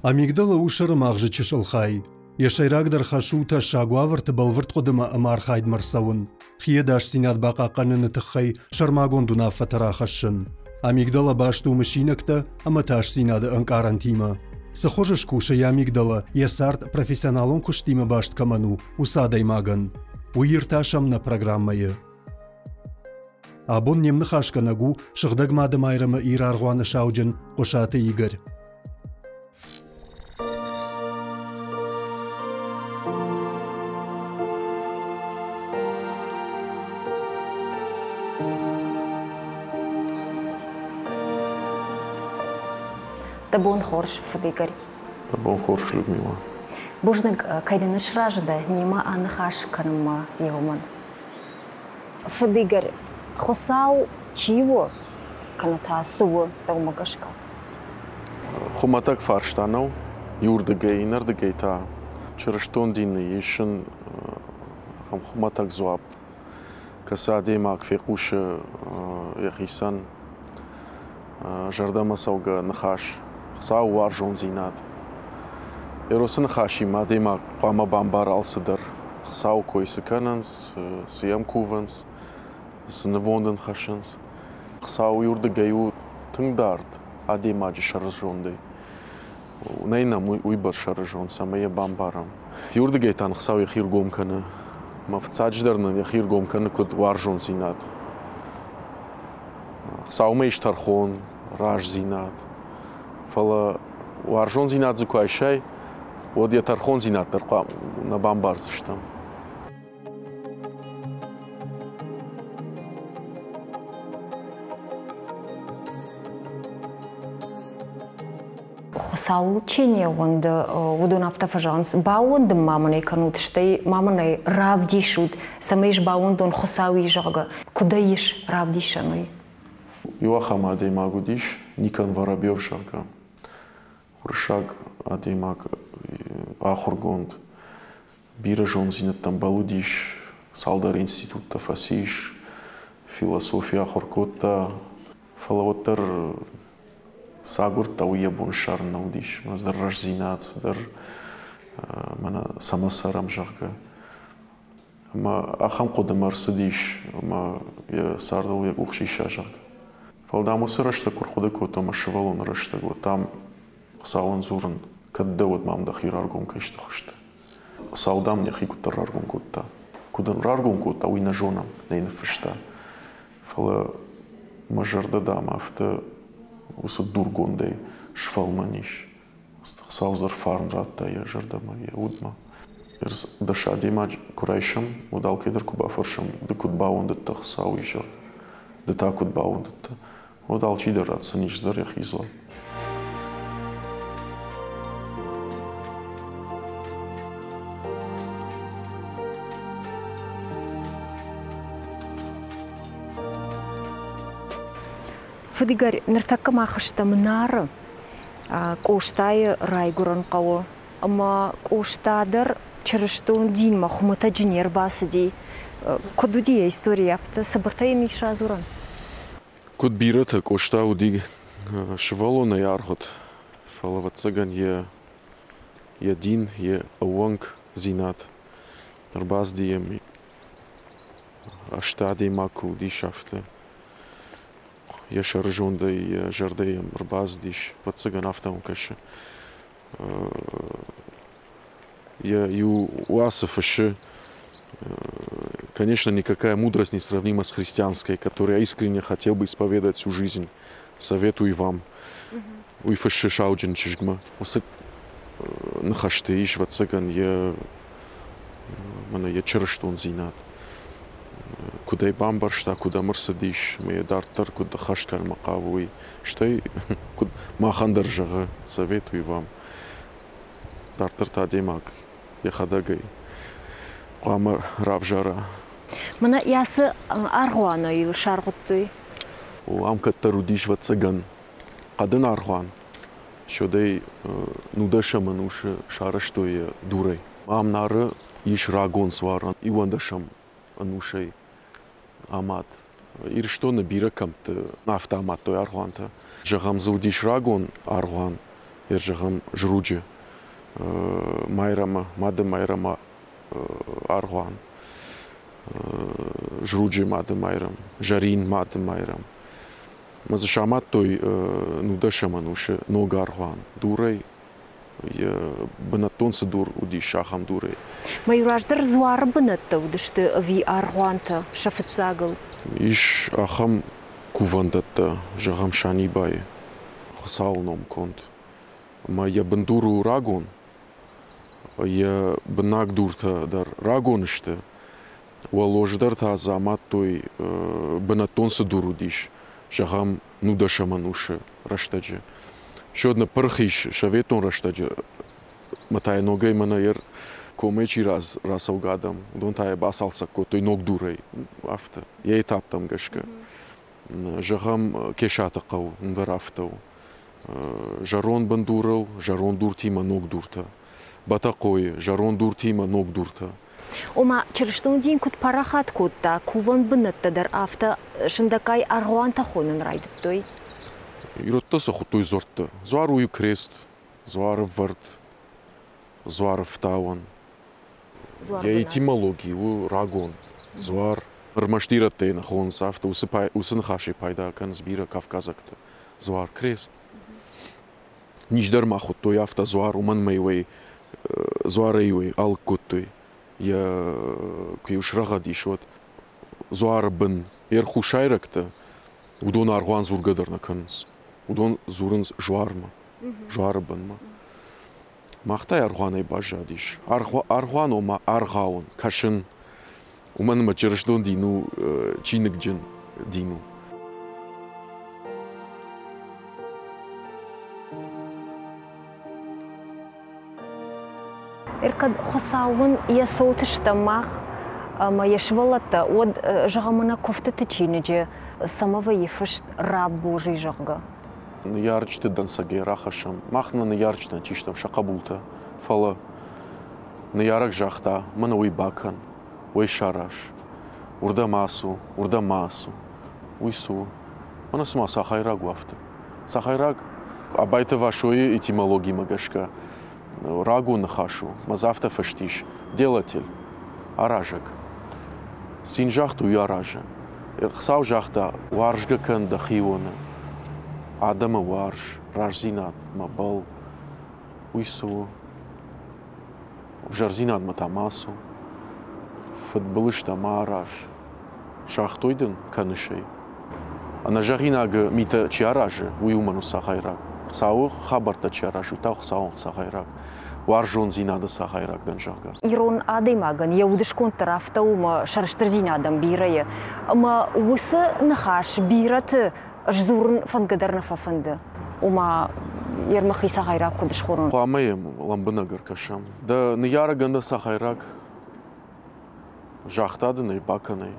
Амигдала у сӕрымагъзы чысыл хай. Йӕ сӕйрагдӕр хӕс у тӕссаг уавӕрты бӕлвырд хъуыдымӕ ӕмӕ архайдмӕ рцӕуын, хи ӕдасдзинад бахъахъхъӕныны тыххӕй сӕрмагонд уынаффӕтӕ рахӕссын. Амигдала баст у мысинӕгтӕ ӕмӕ тасдзинады ӕнкъарӕнтимӕ. Цы хуызы скусы йӕ амигдала, йӕ цард профессионалон куыстимӕ баст кӕмӕн у, уыцы адӕймагӕн? Уый иртасӕм нӕ программӕйы. Абон не мныхасгӕнӕг у Сыгъдӕг Мады Майрӕмы Ираргъуаны сауджын Хъуысаты Игорь. Дӕ бон хорз, фыд Игорь. Дӕ бон хорз, Людмила. Бузныг, кӕй дын сразы дӕ немӕ аныхас кӕнынмӕ, Еумӕн. Фыд Игорь, Хуыцау чи у, кӕнӕ та цы у, дӕумӕ гӕсгӕ? Хуымӕтӕг фарста нӕу. Иуырдыгӕй, иннӕрдыгӕй та чырыстон дины исын ахӕм хуымӕтӕг дзуапп, кӕцы адӕймаг фехъусы йӕхицӕн зӕрдӕмӕцӕугӕ ныхас, Хуыцауы уарзондзинад. Эросы ныхасимӕ адӕймаг хъуамӕ бамбара алцыдӕр. Хуыцауы кой цы кӕнынц, цы йӕм кувынц, цы нывонд ын хӕссынц. Хуыцау иуырдыгӕй у тынг дард адӕймаджы сӕрызондӕй. Нӕй нӕм уыйбӕрц сӕрызонд, цӕмӕй йӕ бамбарӕм. Иуырдыгӕй та Хуыцау йӕхи ргом кӕны. Мӕ фыццаджыдӕр нын йӕхи ргом кӕны куыд уарзондзинад. Хуыцаумӕ ис тӕрхон, раздзинад. Фӕлӕ уарзондзинад дзы куы айсай, уӕд йӕ тӕрхондзинад дӕр нӕ бамбардзыстӕм. Хуыцауыл чи не ууӕнды, уыдон афтӕ фӕзӕгъынц, баууӕндын ма мын ӕй кӕнут, стӕй ма мын ӕй равдисут, цӕмӕй ис баууӕндон Хуыцау и, зӕгъгӕ. Куыд ӕй ис равдисӕн уый? Иу ахӕм адӕймаг уыдис, Никон Воробьев, зӕгъгӕ. Уырыссаг адӕймаг, ахуыргонд, бирӕ зонддзинӕдтӕм бӕллыдис, цалдӕр институттӕ фӕцис, философи ахуыр кодта, фӕлӕ уӕддӕр цы агуырдта, уый йӕ бон ссарын нӕ уыдис. Цыдӕр рӕстдзинад, цыдӕр мӕнӕ цӕмӕ цӕрӕм, зӕгъгӕ. Ӕмӕ ахӕм хъуыдымӕ ӕрцыдис, ӕмӕ йӕ цардыл йӕ къух сиса, зӕгъгӕ. Фӕлӕ, дам, уыцы рӕстӕг куы рхъуыды кодтон мӕ сывӕллоны рӕстӕг, уӕд, дам, Хуыцауӕн дзурын, кӕд дӕ уӕд мӕм дӕхи раргом кӕй сты хуызты. Хуыцау, дам, йӕхи куыддӕр раргом кодта. Куыд ын раргом кодта, уый нӕ зонӕм, нӕ йын ныффыста. Фӕлӕ мӕ зӕрдӕ, дам, афтӕ уыцы дургондӕй сфӕлмӕн ис. Хуыцау дзы фарн радта йӕ зӕрдӕмӕ, йӕ удмӕ. Дӕс адӕймаджы куы райсӕм, уӕд алкӕйдӕр куы бафӕрсӕм, ды куыд бауӕндыдтӕ Хуыцауы изӕр, ды та куыд бауӕндыдтӕ, уӕд алчидӕр ратдзӕнис дӕр йӕхи дзуапп. Фыд Игорь, ныртӕккӕ мах стӕм Нары, Къостайы райгуырӕн хъӕуы. Ӕмӕ Къоста дӕр чырыстон динмӕ хуымӕтӕджы не рбацыди. Куыд уыди йӕ истори афтӕ? Цыбыртӕй йын ис радзурӕн? Куыд бирӕтӕ, Къоста уыди сывӕллонӕй аргъуыд, фӕлӕ, ӕвӕццӕгӕн, йӕ дин, йӕ ӕууӕнкдзинад ӕрбацыди йӕм азты адӕймаг куы уыдис, афтӕ. Йӕ сӕрызондӕй, йӕ зӕрдӕ йӕм ӕрбацыдис, ӕвӕццӕгӕн, афтӕ мӕм кӕсы. Йӕ иу уацы фыссы, конечно, никакая мудрость не сравнима с христианской, которую я искренне хотел бы исповедать всю жизнь. Советую вам. Уый фыссы сауджын чызгмӕ. Уыцы ныхӕсты ис, ӕвӕццӕгӕн, йӕ мӕнӕ йӕ чырыстондзинад. Куыд ӕй бамбӕрста, куыд ӕм ӕрцыдис, ӕмӕ йӕ дарддӕр куыд ӕххӕст кӕнынмӕ хъавы, уый. Стӕй, куыд махӕн дӕр зӕгъы, советую вам. Дарддӕр та адӕймаг йӕхӕдӕг ӕй хъуамӕ равзара. Мӕнӕ ацы аргъуаны йыл саргъуыдтой. О, ам кӕддӕр уыдис, ӕвӕццӕгӕн, хъӕдын аргъуан. Сёдӕй нудӕсӕм ӕнусы сарӕзтой йӕ дурӕй. Ам Нары ис рагон дзуарӕн иуӕндӕсӕм ӕнусӕй амад. Ирыстоны бирӕ кӕмтты афтӕ амадтой аргъуантӕ. Зӕгъӕм, дзы уыдис рагон аргъуан. Зӕгъӕм, Зруджы Майрӕмы, Мады Майрӕмы аргъуан, Зруджы Мады Майрӕм, Зӕрин Мады Майрӕм. Мӕ дзы самадтой нудӕсӕм ӕнусы ног аргъуан дурӕй, йӕ бынӕттон цы дур уыдис, ахӕм дурӕй. Мӕ раздӕр дзуары бынӕттӕ уыдысты ӕви аргъуантӕ сӕ фыццагыл? Ис ахӕм кувӕндӕттӕ, зӕгъӕм, Санибайы Хуыцауы ном конд. Ӕмӕ йӕ бындур у рагон, йӕ бынаг дуртӕ дӕр рагон сты. Уӕллоз дӕр та дзы амадтой, бынӕттон цы дур уыдис, зӕгъӕм, нудӕсӕм ӕнусы рӕстӕджы. Сёд ныппырх ис советон рӕстӕджы, ӕмӕ та йӕ ногӕй мӕнӕ йӕ комӕй чи рацӕугӕ адӕм, уыдон та йӕ бацалцӕг кодтой ног дурӕй, афтӕ, йӕ этаптӕм гӕсгӕ. Зӕгъӕм, Кесаты хъӕу дӕр афтӕ у. Зӕронд бындурыл зӕронд дуртимӕ ног дуртӕ. Бӕтӕхъойы зӕронд дуртимӕ ног дуртӕ. Ома, чырыстон дин куыд парахат кодта, кувӕн бынӕттӕ дӕр афтӕ сындӕггай аргъуантӕ хонын райдыдтой. Ирӕттӕ сӕ хуыдтой дзуӕрттӕ. Дзуар у крест, дзуары вӕрд, дзуары фтауӕн. Йӕ этимологи у рагон. Дзуар. Ӕрмӕст ирӕттӕ нӕ хонынц афтӕ, уыцы ныхасӕй пайда кӕнынц бирӕ кавказӕгтӕ. Дзуар, крест. Низ дӕр ма хуыдтой афтӕ дзуар, уымӕн ӕмӕ-иу ӕй дзуарӕй-иу ӕй алыг кодтой. Йӕ куы-иу срӕгъӕд ис, уӕд дзуары бын йе рхусайрӕгтӕ, уыдон аргъуан дзургӕ дӕр нӕ кӕнынц. Уыдон дзурынц дзуармӕ, дзуары бынмӕ. Мах та аргъуанӕй баззадис. Аргъуан ома аргъауын, кӕсын. Уымӕн ӕмӕ чырыстон дин у чиныгджын дин у. Кӕд Хуыцауӕн йӕ цоты стӕм мах ӕмӕ йӕ сывӕллӕттӕ, уӕд, зӕгъӕм, нӕ куывтыты чиныджы цӕмӕ вӕййы фыст «Раб Божий», зӕгъгӕ? Ныййарджыты дӕнцӕгӕй рахӕссӕм. Мах нӕ ныййарджытӕн чи стӕм, сӕ хъӕбултӕ. Фӕлӕ ныййарӕг загъта, мӕнӕ уый бакӕн, уый сараз. Уырдӕм ацу, уырдӕм ма ацу. Уый цы у? Мӕнӕ цыма сахайраг у афтӕ. Сахайраг Абайты Васойы этимологимӕ гӕсгӕ рагон ныхас у, мӕ дзы афтӕ фыст ис: делатель, аразӕг. Цин загъта, уый аразы. Хуыцау загъта, уарзгӕ кӕн дӕхионы, адӕмы уарз, раздзинадмӕ бӕлл. Уый цы у? Ӕвзӕрдзинадмӕ та ма цу. Фыдбылызтӕ ма араз. Загътой дын, кӕныс ӕй. Ӕнӕзӕгъинаг митӕ чи аразы, уый уымӕн у цагъайраг. Хуыцауы хабӕрттӕ чи аразы, уый та Хуыцауӕн цагъайраг. Уарзондзинады цагъайраг дӕн, зӕгъгӕ. Ирон адӕймагӕн йӕ удысконд дӕр афтӕ у ӕмӕ сӕрыстырдзинадӕн бирӕ и. Ӕмӕ уыцы ныхас бирӕты сдзурын фӕндгӕ дӕр нӕ фӕфӕнды. Ома, йе рмӕхи цагъайраг куыд схонон? Хъуамӕ йӕм лӕмбынӕг ӕркӕсӕм. Дӕ ныййарӕгӕн дӕ цагъайраг загъта дын ӕй, бакӕн ӕй.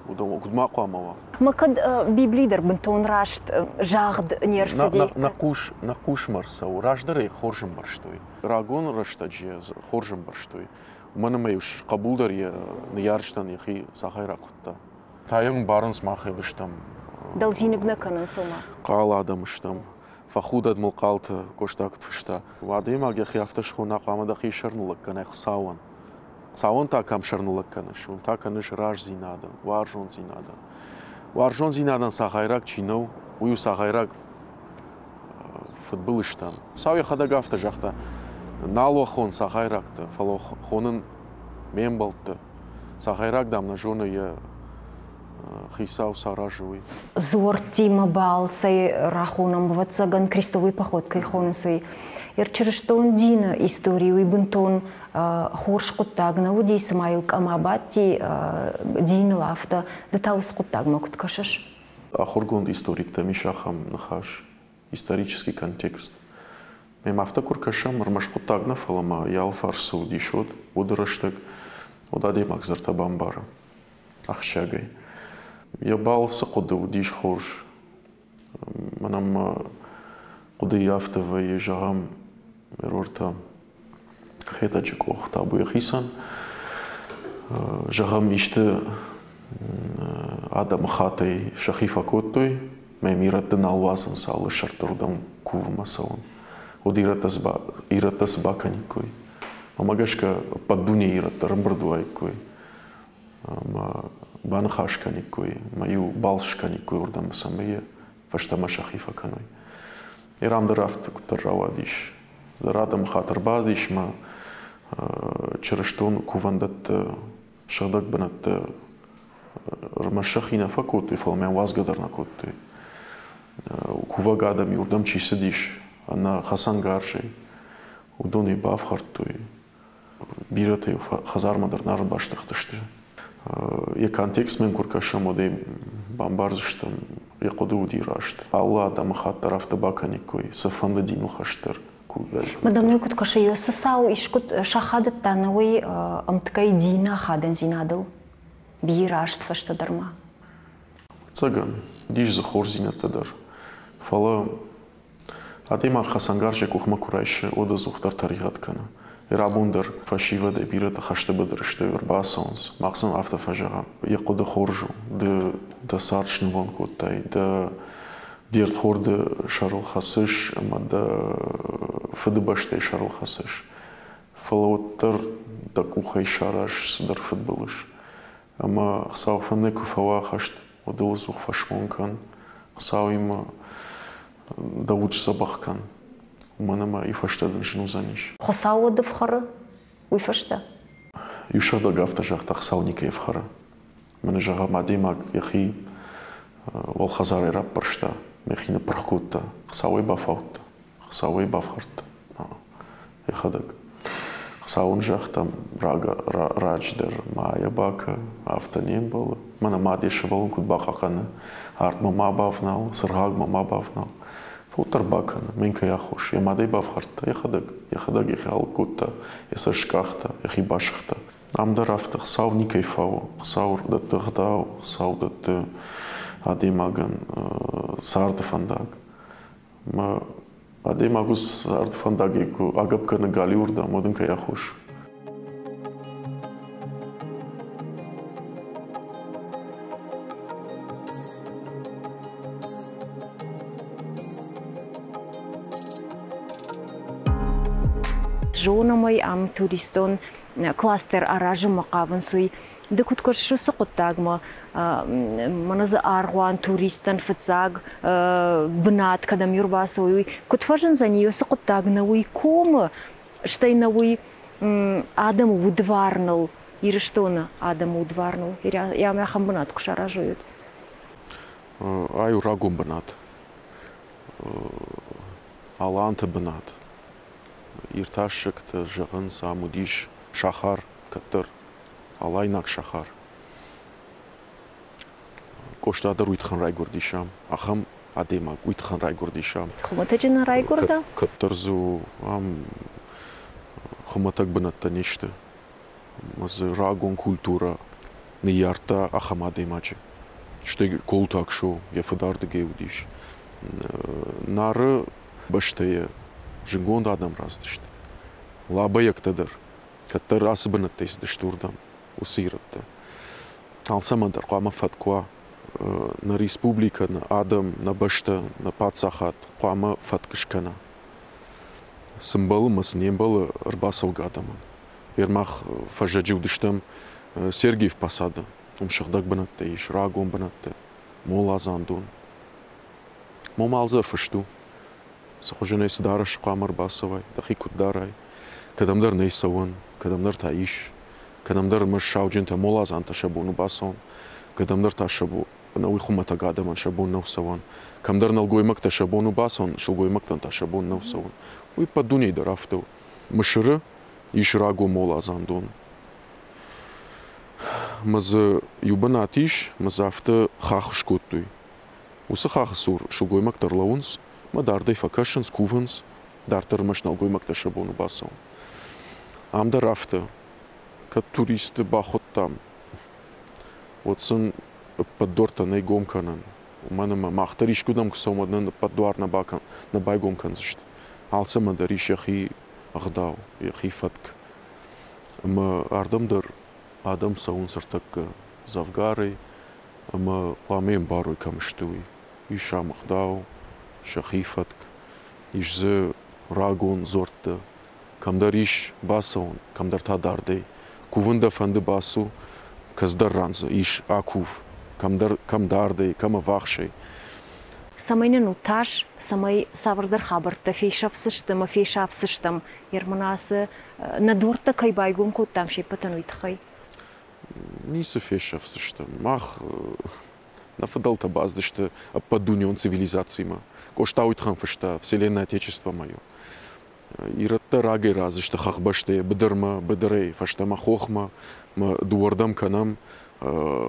Уыдон куыд ма хъуамӕ уа? Мӕ кӕд Библи дӕр бынтон раст загъд не рцыди. Нӕ хъусмӕ ӕрцӕуы. Раздӕр ӕй хорз ӕмбӕрстой. Рагон рӕстӕджы йӕ хорз ӕмбӕрстой. Уымӕн ӕмӕ-иу хъӕбул дӕр йӕ ныййарджытӕн йӕхи цагъайраг хуыдта. Та йӕ ӕмбарынц мах стӕм. Дӕлдзиныг нӕ кӕнынц ома? Хъал адӕм стӕм. Фӕхудӕд мыл хъалты, Къоста куыд фыста. Адӕймаг йӕхи афтӕ схона, хъуамӕ дӕхи сӕрныллӕг кӕнай Хуыцауӕн. Хуыцауӕн та кӕм сӕрныллӕг кӕныс, уым та кӕныс раздзинадӕн, уарзондзинадӕн. Уарзондзинадӕн цагъайраг чи нӕу, уый у цагъайраг фыдбылызтӕн. Хуыцау йӕхӕдӕг афтӕ загъта, нал уӕ хон цагъайрӕгтӕ, фӕлӕ хонын ме мбӕлтты. Цагъайраг, дам, нӕ зоны йӕ хицау саразы, уый. Дзуӕрттимӕ балцӕй рахонӕм, ӕвӕццӕгӕн, крестовый поход кӕй хонынц, уый. Чырыстон дины истори уый бынтон хорз хъуыддаг нӕ уыди, цыма йыл къӕм абадти диныл, афтӕ. Ды та уыцы хъуыддагмӕ куыд кӕсыс? Ахуыргонд историктӕм ис ахӕм ныхас, исторический контекст. Мӕм афтӕ куы ркӕсӕм, ӕрмӕст хъуыддаг нӕ, фӕлӕ ма йӕ алфарс цы уыдис, уӕд уыды рӕстӕг уӕд адӕймаг дзырдтӕ бамбары ахсджиагӕй. Йӕ балцы хъуыды уыдис хорз. Мӕнӕн мӕ хъуыдыйы афтӕ вӕййы, зӕгъӕм, ӕрвыртӕ Хетӕджы къох табу йӕхицӕн. Зӕгъӕм, исты адӕмыхаттӕй сӕхи фӕкодтой, мӕ ирӕтты нал уадзынц алы сӕрддӕр уыдон кувынмӕ цӕуын. Уӕд ирӕттӕ цы бакӕниккой? Мӕнмӕ гӕсгӕ, ӕппӕт дунейы ирӕттӕ ӕрӕмбырд уаиккой ӕмӕ баныхас кӕниккой, ӕмӕ-иу балц скӕниккой уырдӕм, цӕмӕй йӕ фӕстӕмӕ сӕхи фӕкӕной. Ирам дӕр афтӕ куыддӕр рауадис. Дӕр адӕмы хатыр бадис мӕ чырыстон кувӕндӕтты сыгъдӕг бынӕтты ӕрмӕст сӕхи нӕ фӕкодтой, фӕлӕ мӕ уадзгӕ дӕр нӕ кодтой. Кувӕг адӕм иуырдӕм чи цыдис ӕнӕ хӕцӕнгарзӕй, уыдон-иу бафхӕрдтой. Бирӕтӕ-иу хӕдзармӕ дӕр нӕ ӕрбаздӕхтысты. Йӕ контекстмӕ куы ркӕсӕм, уӕд ӕй бамбардзыстӕм, йӕ хъуыды уыди раст. Алы адӕмыхатт дӕр афтӕ бакӕниккой, цыфӕнды диныл хӕст дӕр. Мадам, куыд кӕсы, цы цау искуыд сахадыдта нӕ уый ӕмткӕй дины ахадындзинадыл бирӕ азты фӕстӕдӕр ма? Ӕцӕгӕн, уыдис дзы хорздзинӕдтӕ дӕр. Фӕлӕ адӕймаг хӕцӕнгарз йӕ къухмӕ куы райсы, уӕд ӕдзухдӕр тӕригъӕд кӕны. Рабон дӕр фӕсивӕдӕй бирӕтӕ хӕсты быдыры сты, ӕрбацӕуынц. Мах сын афтӕ фӕзӕгъӕм: йӕ хъуыды хорз у, ды дӕ цард снывонд кодтай, дӕ де рдхорды сӕрыл хӕцыс ӕмӕ дӕ фыдыбӕстӕйы сӕрыл хӕцыс. Фӕлӕ уӕддӕр дӕ къухӕй сараз цыдӕр фыдбылыз. Ӕмӕ Хуыцау фӕндӕй куы фӕуа хӕст, уӕд ыл ӕдзух фӕсмон кӕн, Хуыцауимӕ дӕ уд сдзӕбӕх кӕн, уымӕн ӕмӕ и фӕстӕ дын зын уыдзӕнис. Хуыцау уӕд ӕфхӕры уый фӕстӕ? Иу сыгъдӕг афтӕ загъта, Хуыцау никӕй ӕфхӕры. Мӕнӕ зӕгъӕм, адӕймаг йӕхи уӕлхӕдзарӕй раппӕрста, йӕхи ныппырх кодта, Хуыцауӕй бафаудта, Хуыцауӕй бафхӕрдта йӕхӕдӕг. Хуыцау ын загъта, раджы дӕр ма йӕ бакӕ, афтӕ не мбӕлы. Мӕнӕ мад йӕ сывӕллон куыд бахъахъхъӕны, артмӕ ма бавнал, цыргъагмӕ ма бавнал. Фылдӕр бакӕны, мӕн кӕй аххос. Йӕ мадӕй бафхӕрдта йӕхӕдӕг, йӕхӕдӕг йӕхи алыг кодта, йӕ цӕст скъахта, йӕхи басыгъта. Ам дӕр афтӕ Хуыцау никӕй фауы. Хуыцау дӕтты ӕгъдау, Хуыцау дӕтты адӕймагӕн царды фӕндаг. Мӕ адӕймаг уыцы царды фӕндагӕй куы агӕпп кӕны галиуырдӕм, уӕд ын кӕй аххос? Зонӕм ӕй, ам туристон кластер аразынмӕ хъавынц, уый. Ды куыд кӕсыс уыцы хъуыддагмӕ? Мӕнӕ дзы аргъуан туристтӕн фыццаг бынат кӕдӕм ӕрбацӕуой, уый куыд фӕзындзӕни уыцы хъуыддаг нӕ уый комы, стӕй нӕ уый адӕмы удварныл, Ирыстоны адӕмы удварныл, ӕмӕ ахӕм бынат куы саразой, уӕд? Ай у рагон бынат. Аланты бынат. Иртасӕгтӕ зӕгъынц, ам уыдис сахар кӕддӕр, алайнаг сахар. Къоста дӕр уый тыххӕн райгуырдис ам. Ахӕм адӕймаг уый тыххӕн райгуырдис ам. Хуымӕтӕджы нӕ райгуырда? Кӕддӕр дзы ам хуымӕтӕг бынӕттӕ не сты. Ӕмӕ дзы рагон культурӕ ныййардта ахӕм адӕймаджы. Стӕй Колтаг шоу йӕ фыдардыгӕй уыдис. Нары бӕстӕйы зынгонд адӕм рацыдысты. Лабӕйӕгтӕ дӕр кӕддӕр ацы бынӕттӕй цыдысты уырдӕм, уыцы ирӕттӕ. Алцӕмӕн дӕр хъуамӕ фӕтк уа. Нӕ республикӕ, нӕ адӕм, нӕ бӕстӕ, нӕ паддзахад хъуамӕ фӕтк скӕна. Цы мбӕлы ӕмӕ цы не мбӕлы ӕрбацӕугӕ адӕмӕн. Мах фӕззӕджы уыдыстӕм Сергиев Посады. Уым сыгъдӕг бынӕттӕ ис, рагон бынӕттӕ, моладзандон. Мом алдзӕр фыст у. Цы хуызӕнӕй цы дарӕсы хъуамӕ ӕрбацӕуай, дӕхи куыд дарай. Кӕдӕмдӕр нӕй цӕуӕн, кӕдӕмдӕр та ис. Кӕдӕмдӕр ӕрмӕст сауджынтӕ, моладзантӕ сӕ бон у бацӕуын, кӕдӕмдӕр та сӕ бон ӕнӕуый хуымӕтӕг адӕмӕн сӕ бон нӕу цӕуӕн. Кӕмдӕр нӕлгоймӕгтӕ сӕ бон у бацӕуын, сылгоймӕгтӕн та сӕ бон нӕу цӕуын. Уый ӕппӕт дунейы дӕр афтӕ у. Мысыры ис рагон моладзандон. Мӕ дзы иу бынат ис, мӕ дзы афтӕ хахх скодтой. Уыцы хахы цур сылгоймӕгтӕ ӕрлӕууынц ӕмӕ дардӕй фӕкӕсынц, кувынц, дарддӕр ӕрмӕст нӕлгоймӕгтӕ сӕ бон у бацӕуын. Ам дӕр афтӕ, кӕд туристты бахуыдтам, уӕд сын ӕппӕт дуӕрттӕ нӕй гом кӕнӕн. Уымӕн ӕмӕ мах дӕр искуыдӕм куы цӕуӕм, уӕд нын ӕппӕт дуар нӕ байгом кӕндзысты. Алцӕмӕн дӕр ис йӕхи ӕгъдау, йӕхи фӕтк. Ӕмӕ ардӕм дӕр адӕм цӕуынц ӕртӕккӕ дзӕвгарӕй ӕмӕ хъуамӕ ӕмбарой, кӕм сты, уый. Ис ӕм ӕгъдау, сӕхи фӕтк, ис дзы рагон дзуӕртты. Кӕмдӕр ис бацӕуын, кӕмдӕр та дардӕй. Кувын дӕ фӕнды бацу, кӕцыдӕр ран дзы ис акув, кӕмдӕр кӕм дардӕй, кӕм ӕввахсӕй. Цӕмӕй нын у тас, цӕмӕй цавӕрдӕр хабӕрттӕ фесӕфдзысты ӕмӕ фесафдзыстӕм, Ерманацы нӕ дуӕрттӕ кӕй байгом кодтам се ппӕтӕн, уый тыххӕй? Ницы фесӕфдзыстӕм. Мах нӕ фыдӕлтӕ бацыдысты ӕппӕтдунеон цивилизацимӕ. Къоста уый тыххӕн фыста «Вселенная Отечество мое». Ирӕттӕ рагӕй рӕзысты хӕхбӕстӕй быдырмӕ, быдырӕй фӕстӕмӕ хохмӕ, дыууӕрдӕм кӕнӕм,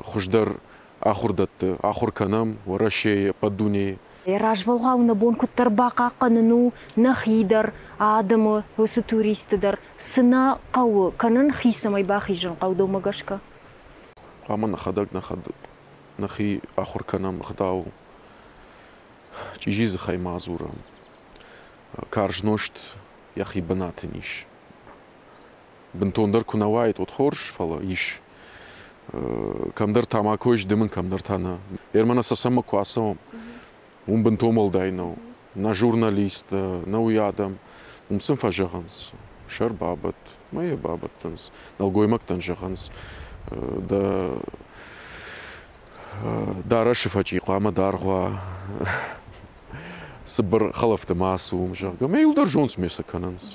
хуыздӕр ахуырдӕтты ахуыр кӕнӕм Уӕрӕсейы, ӕппӕт дунейы. Развӕлгъау нӕ бон куыддӕр бахъахъхъӕнын у нӕхи дӕр, адӕмы, уыцы туристты дӕр. Цы нӕ хъӕуы кӕнын, хи цӕмӕй бахизын хъӕуы дӕумӕ гӕсгӕ? Хъуамӕ нӕхӕдӕг нӕхи ахуыр кӕнӕм ӕгъдау, чъизи дзыхӕй ма дзурӕм. Карз нозт йӕхи бынаты ис. Бынтондӕр куы нӕ уаид, уӕд хорз, фӕлӕ ис. Кӕмдӕр тамако ис дымын, кӕмдӕр та нӕ. Ермӕ нӕ Цӕцӕнмӕ куы ацӕуӕм, уым бынтон уӕлдай нӕу. Нӕ журналисттӕ, нӕ уый адӕм, уым сын фӕзӕгъынц, сӕр бабӕтт, мӕ йӕ бабӕттынц. Нӕлгоймӕгтӕн зӕгъынц, дӕ дарӕсы фӕчъи хъуамӕ даргъ уа, цыбыр хӕлӕфты ма ацу, зӕгъгӕ. Мӕ иу дӕр зондсмӕ сӕ кӕнынц.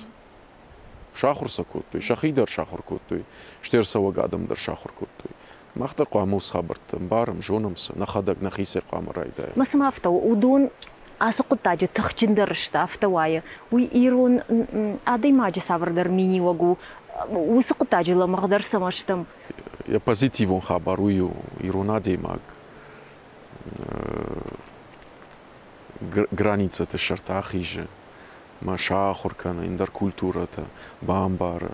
Сахуыр сӕ кодтой, сӕхи дӕр сахуыр кодтой, стӕй ӕрцӕуӕг адӕм дӕр сахуыр кодтой. Мах дӕр хъуамӕ уыцы хабӕрттӕ ӕмбарӕм, зонӕм сӕ, нӕхӕдӕг нӕхицӕй хъуамӕ райдайӕм. Ма цыма афтӕ у, уыдон ацы хъуыддаджы тыхджындӕр сты, афтӕ уайы. Уый ирон адӕймаджы цавӕрдӕр миниуӕг у, уыцы хъуыддаджы лӕмӕгъдӕр цӕмӕ стӕм? Йӕ позитивон хабар уый у, ирон адӕймаг границӕты сӕрты ахизы, мӕ сахуыр кӕны ӕндӕр культурӕтӕ, бамбары,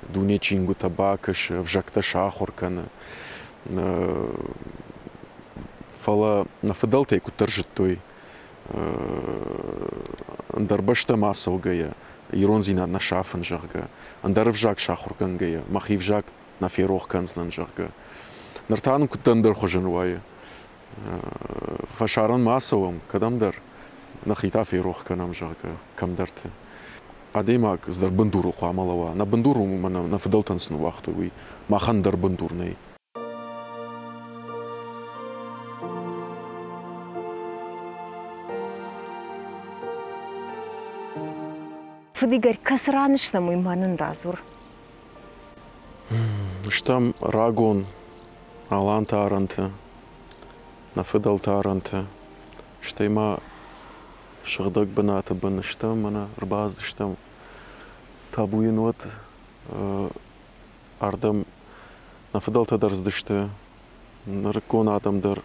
дуне чингуытӕ бакӕсы, ӕвзӕгтӕ сахуыр кӕны. Фӕлӕ нӕ фыдӕлтӕй куыддӕр зыдтой, ӕндӕр бӕстӕмӕ ацӕугӕйӕ, ирондзинад нӕ сафын, зӕгъгӕ, ӕндӕр ӕвзаг сахуыргӕнгӕйӕ, мӕхи ӕвзаг нӕ ферох кӕндзынӕн, зӕгъгӕ. Ныр та нын куыд ӕндӕр хуызӕн уайы. Фӕсарӕнмӕ ацӕуӕм кӕдӕмдӕр, нӕхи та ферох кӕнӕм, зӕгъгӕ, кӕмдӕрты. Адӕймаг цыдӕр бындурыл хъуамӕ лӕууа. Нӕ бындур у, мӕнӕ нӕ фыдӕлтӕн цы ныууагътой, уый. Махӕн дӕр бындур нӕй. Фыд Игорь, кӕцы ран стӕм, уый ма нын радзур. Стӕм рагон аланты арӕнты, нӕ фыдӕлты арӕнты, стӕй ма сыгъдӕг бынаты бын стӕм мӕнӕ ӕрбацыдыстӕм. Табу йын уӕд, ардӕм нӕ фыдӕлтӕ дӕр цыдысты, нырыккон адӕм дӕр,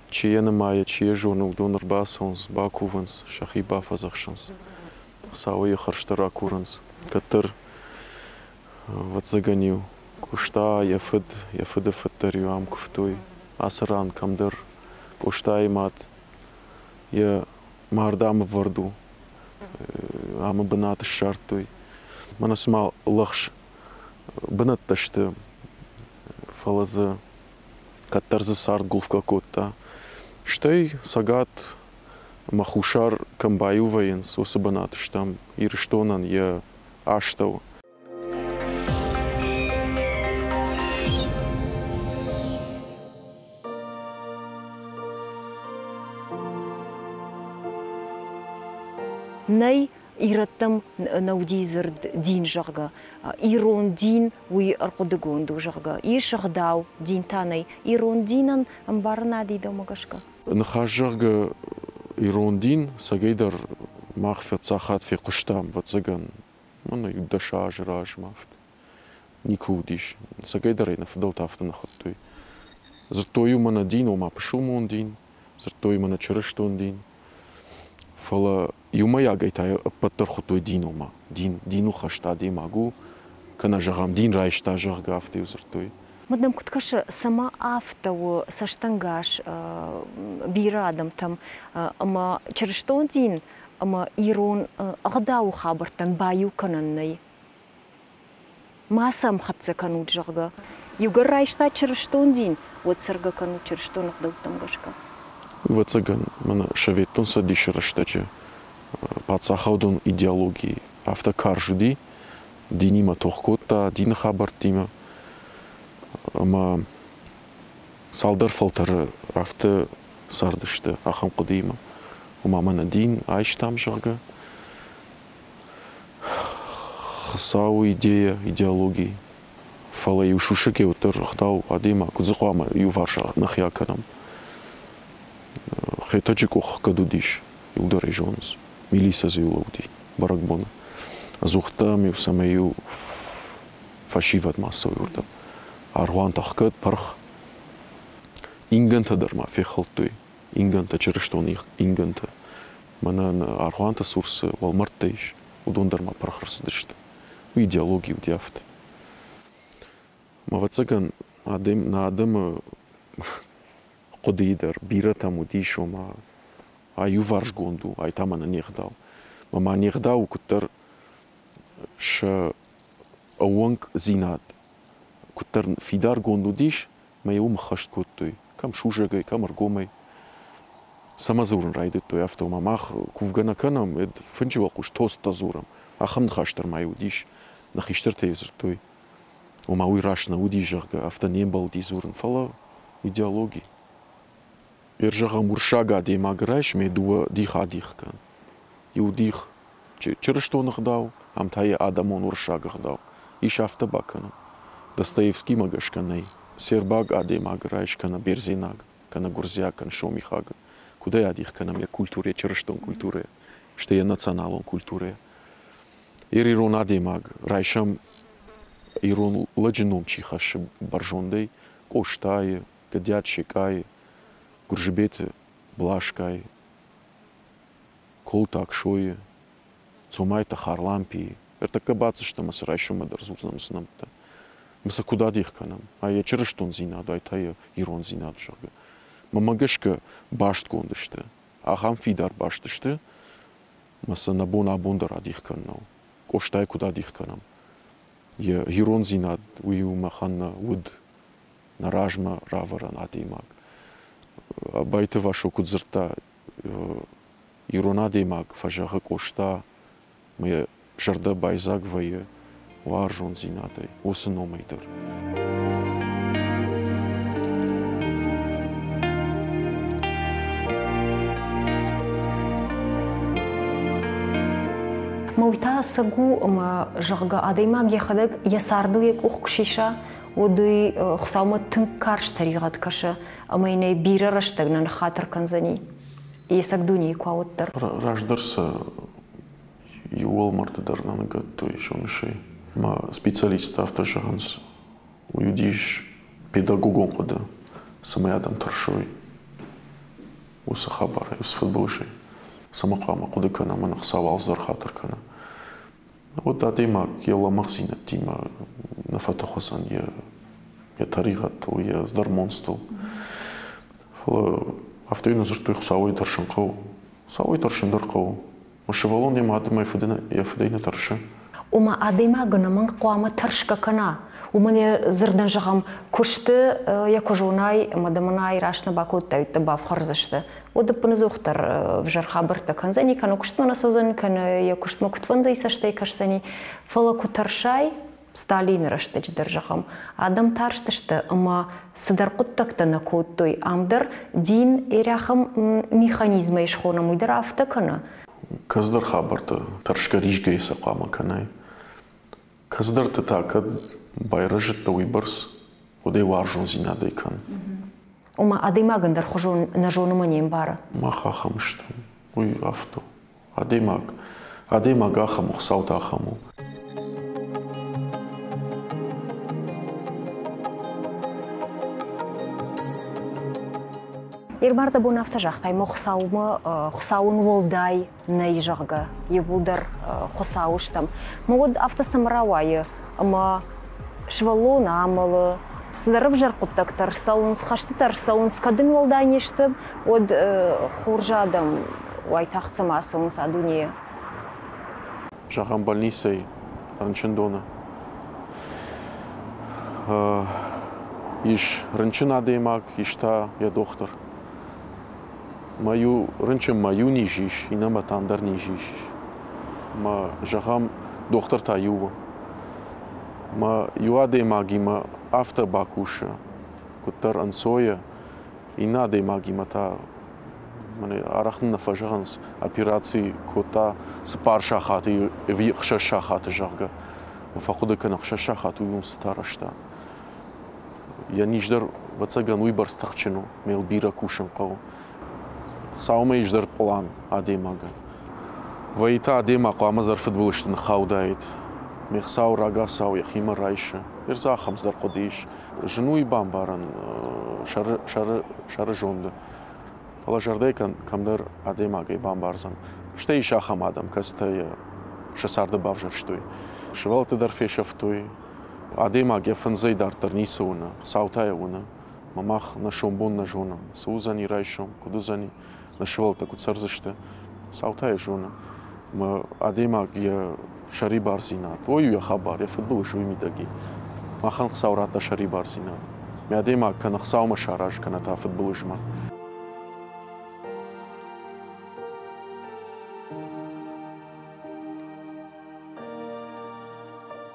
чи йӕ нымайы, чи йӕ зоны, уыдон ӕрбацӕуынц, бакувынц, сӕхи бафӕдзӕхсынц. Хуыцауы йӕ хӕрзтӕ ракурынц. Кӕддӕр, ӕвӕццӕгӕн-иу Къоста йӕ фыд, йӕ фыды фыд дӕр-иу ам куывтой. Ацы ран кӕмдӕр Къостайы мад йӕ мард ам ӕвӕрд у, амы бынат ссардтой. Мӕнӕ цыма лӕгъз бынӕттӕ сты, фӕлӕ дзы кӕддӕр дзы цард гуылфгӕ кодта. Стӕй Цӕгат ӕмӕ Хуссар кӕм баиу вӕййынц, уыцы бынат стӕм Ирыстонӕн йӕ астӕу. Нӕй ирӕттӕм нӕ уыди дзырд дин, зӕгъгӕ. Ирон дин уый ӕрхъуыдыгонд у, зӕгъгӕ. Ис ӕгъдау, дин та нӕй. Ирон динӕн ӕмбарынад и дӕумӕ гӕсгӕ? Ныхас, зӕгъгӕ, ирон дин цӕгӕйдӕр мах фӕцахат фехъуыстам, ӕвӕццӕгӕн, мӕнӕ иу 10 азы размӕ афтӕ. Никуы уыдис. Цӕгӕйдӕр ӕй нӕ фыдӕлтӕ афтӕ нӕ хуыдтой. Дзырдтой-иу мӕнӕ дин, ома пысылмон дин, дзырдтой мӕнӕ чырыстон дин. Фӕлӕ иумӕйагӕй та ӕппӕт дӕр хуыдтой дин, ома дин, диныл хӕст адӕймаг у, кӕнӕ, зӕгъӕм, дин райста, зӕгъгӕ, афтӕ-иу дзырдтой. Мад нӕм куыд кӕсы, цӕмӕ афтӕ у цӕстӕнгас бирӕ адӕмтӕм ӕмӕ чырыстон дин ӕмӕ ирон ӕгъдауы хабӕрттӕн баиу кӕнӕн нӕй? Ма сӕм хӕццӕ кӕнут, зӕгъгӕ. Иугӕр райста чырыстон дин, уӕд цӕргӕ кӕнут чырыстон ӕгъдӕуттӕм гӕсгӕ. Ӕвӕццӕгӕн, мӕнӕ Советон Цӕдисы рӕстӕджы Паддзахадон идеологи афтӕ карз уыди, динимӕ тох кодта, дины хабӕрттимӕ. Ӕмӕ цалдӕр фӕлтӕры афтӕ цардысты ахӕм хъуыдыимӕ. Ома мӕнӕ дин айстам, зӕгъгӕ. Хуыцауы идея, идеологи. Фӕлӕ-иу сусӕгӕй уӕддӕр ӕгъдау адӕймаг куыд дзы хъуамӕ иуварс нӕхи акӕнӕм. Хетӕджы къух кӕд уыдис, иуылдӕр ӕй зонынц. Милицӕ дзы иу лӕууыди бӕрӕгбоны. Ӕдзухдӕр-иу цӕмӕй-иу фӕсивӕд ма цӕуой уырдӕм. Аргъуантӕ ӕхгӕд, пырх. Ингӕнтӕ дӕр ма фехӕлдтой. Ингӕнтӕ, чырыстон ингӕнтӕ. Мӕнӕ аргъуанты цур цы уӕлмӕрдтӕ ис, уыдон дӕр ма пырх ӕрцыдысты. Уый идеологи уыди афтӕ. Ӕвӕццӕгӕн, адӕм, нӕ адӕмы хъуыдыйы дӕр бирӕтӕм уыдис, ома аиуварсгонд у, ай та мӕнӕ не гъдау. Мӕ ма не гъдау куыддӕр сӕ ӕууӕнкдзинад куыддӕр фидаргонд уыдис, мӕ йӕ уым ӕххӕст кодтой, кӕм сусӕгӕй, кӕм ӕргомӕй. Цӕмӕ дзурын райдыдтой, афтӕ ома мах кувгӕ нӕ кӕнӕм, фынджы уӕлхъус тосттӕ дзурӕм. Ахӕм ныхас дӕр ма уыдис, нӕ хистӕртӕ-иу дзырдтой. Ома уый раст нӕ уыди, зӕгъгӕ, афтӕ не мбӕлди дзурын, фӕлӕ идеологи. Ӕрзӕгъӕм уырыссаг адӕймаг райс ме дыууӕ дих адих кӕн. Иу дих чырыстон ӕгъдау, ам та йӕ адӕмон уырыссаг ӕгъдау. Ис афтӕ бакӕнӕн. Достоевскимӕ гӕсгӕ нӕй. Сербаг адӕймаг райс кӕнӕ бердзенаг, кӕнӕ гуырдзиаг, кӕнӕ сомихаг. Куыдӕй адих кӕнӕм йӕ культурӕ, чырыстон культурӕ, стӕй йӕ националон культурӕ. Ирон адӕймаг райсӕм ирон лӕджы ном чи хӕссы бӕрзондӕй, Къостайы, Гӕдиат Секъайы, Гуырзыбеты Блашкайы, Колыты Аксойы, Цомайты Харлампийы. Ӕртӕккӕ бацыдыстӕм ӕмӕ сӕ райсоммӕ дӕр дзурдзынӕн уыцы нӕмттӕ. Ӕмӕ сӕ куыд адих кӕнӕм? Ай йӕ чырыстондзинад, ай та йӕ ирондзинад, зӕгъгӕ. Мӕнмӕ гӕсгӕ бастгонд сты. Ахӕм фидар баст сты, ӕмӕ сӕ нӕ бон абон дӕр адих кӕнын нӕу. Къостайы куыд адих кӕнӕм? Йӕ ирондзинад уый у махӕн нӕ уд, нӕ размӕ равӕрӕн адӕймаг. Абайты Васо куыд дзырдта, ирон адӕймаг фӕзӕгъы Къоста, мӕ йӕ зӕрдӕ байдзаг вӕййы уарзондзинадӕй, уыцы номӕй дӕр. Мӕ уый та ӕцӕг у, ӕмӕ, зӕгъгӕ, адӕймаг йӕхӕдӕг йӕ цардыл йӕ къух куы сиса, уӕд уый Хуыцаумӕ тынг карз тӕригъӕд кӕсы ӕмӕ йын ӕй бирӕ рӕстӕг нӕ ныххатыр кӕндзӕни. Йе цӕг дунейы куы ауыддӕр. Раздӕр сӕ иу уӕлмӕрды дӕр нӕ ныгӕдтой зонысӕй. Мӕ специалисттӕ афтӕ зӕгъынц, уый уыдис педагогон хъуыды, цӕмӕй адӕм тӕрсой уыцы хабарӕй, уыцы фыдбылызӕй. Цӕмӕ хъуамӕ хъуыды кӕнӕм, ӕмӕ Хуыцау алцыдӕр хатыр кӕны. Уӕд адӕймаг йӕ лӕмӕгъдзинӕдтимӕ нӕ фӕтых уыдзӕн йӕ йӕ тӕригъӕдтыл, йӕ ӕздӕр монцтыл. Фӕлӕ афтӕ йын дзырдтой, Хуыцауӕй тӕрсын хъӕуы. Хуыцауӕй тӕрсын дӕр хъӕуы. Мӕ сывӕллон йӕ мад ӕмӕ йӕ фыдӕй нӕ тӕрсы. Ома адӕймаг ӕнӕмӕнг хъуамӕ тӕрсгӕ кӕна. Уымӕн йӕ дзырдӕн зӕгъӕм, куысты йӕ куы зонай ӕмӕ дӕ мӕнӕй раст нӕ бакодтай, уӕд дӕ бафхӕрдзысты. Уӕд ӕппынӕдзухдӕр ӕвзӕр хабӕрттӕ кӕндзӕни, кӕнӕ куыстмӕ нӕ цӕудзӕн, кӕнӕ йӕ куыстмӕ куыдфӕндыйы цӕстӕй кӕсдзӕни. Фӕлӕ куы тӕрсай, Сталины рӕстӕджы дӕр, зӕгъӕм, адӕм тарстысты ӕмӕ цыдӕр хъуыддӕгтӕ нӕ кодтой. Ам дӕр дин эрӕхӕм механизмӕй схонӕм, уый дӕр афтӕ кӕны. Кӕцыдӕр хабӕрттӕ тӕрсгӕ-ризгӕйӕ сӕ хъуамӕ кӕнай. Кӕцыдӕрты та кӕд байрӕзыдтӕ уыйбӕрц, уӕд ӕй уарзондзинадӕй кӕн. Ома адӕймаг ӕндӕрхуызон нӕ зоны ӕмӕ не мбары. Мах ахӕм стӕм, уый афтӕ у. Адӕймаг, адӕймаг ахӕм у, Хуыцау та ахӕм у. Ирбар дӕ бон афтӕ загътай, мӕ Хуыцаумӕ Хуыцауӕн уӕлдай нӕй, зӕгъгӕ, иууылдӕр Хуыцауы стӕм. Мӕ уӕд афтӕ цӕмӕ рауайы, ӕмӕ сывӕллон амӕлы, цыдӕр ӕвзӕр хъуыддӕгтӕ ӕрцӕуынц, хӕстытӕ ӕрцӕуынц, кӕд ын уӕлдай не сты, уӕд хорз адӕм уайтагъд цӕмӕ ацӕуынц а дунейӕ. Зӕгъӕм, больницӕйы, рынчындоны ис рынчын адӕймаг, ис та йӕ дохтыр. Мӕ иу рынчынмӕ иу низ ис, иннӕмӕ та ӕндӕр низ ис. Мӕ, зӕгъӕм, дохтыр та иу у. Мӕ иу адӕймагимӕ афтӕ бакусы, куыддӕр ӕнцойӕ, иннӕ адӕймагимӕ та мӕнӕ арӕх нын нӕ фӕзӕгъынц, операци кодта 4 сахаты ӕви 6 сахаты, зӕгъгӕ. Фӕхъуыды кӕны, 6 сахаты уый уым цытӕ арӕзта. Йӕ низ дӕр, ӕвӕццӕгӕн, уыйбӕрц тыхджын у, ме йыл бирӕ кусын хъӕуы. Хуыцаумӕ ис дӕр пълан адӕймагӕн. Вӕййы та адӕймаг хъуамӕ дӕр фыдбылызты ныххаудаид. Ме Хуыцау рагацау йӕхимӕ райсы. Ир дзы ахӕм цыдӕр хъуыды ис. Зын у бамбарӕн сӕры зонды. Фӕлӕ зӕрдӕйы кӕмдӕр адӕймагӕй бамбардзӕн. Стӕй ис ахӕм адӕм, кӕцытӕ йӕ сӕ царды бавзӕрстой. Сывӕллӕтты дӕр фесӕфтой. Адӕймаг йӕ фындзӕй дарддӕр ницы уыны, Хуыцау та йӕ уыны. Мӕ мах нӕ сомбон нӕ зонӕм. Цы уыдзӕни райсом, куыд уыдзӕни, нӕ сывӕллӕттӕ куыд цӕрдзысты, Хуыцау та йӕ зоны. Мӕ адӕймаг йӕ сӕрибардзинад, ой, йӕ хабар, йӕ фыдбылыз уый мидӕг и. Махӕн Хуыцау радта сӕрибардзинад. Мӕ адӕймаг кӕнӕ Хуыцаумӕ саразы, кӕнӕ та фыдбылызмӕ.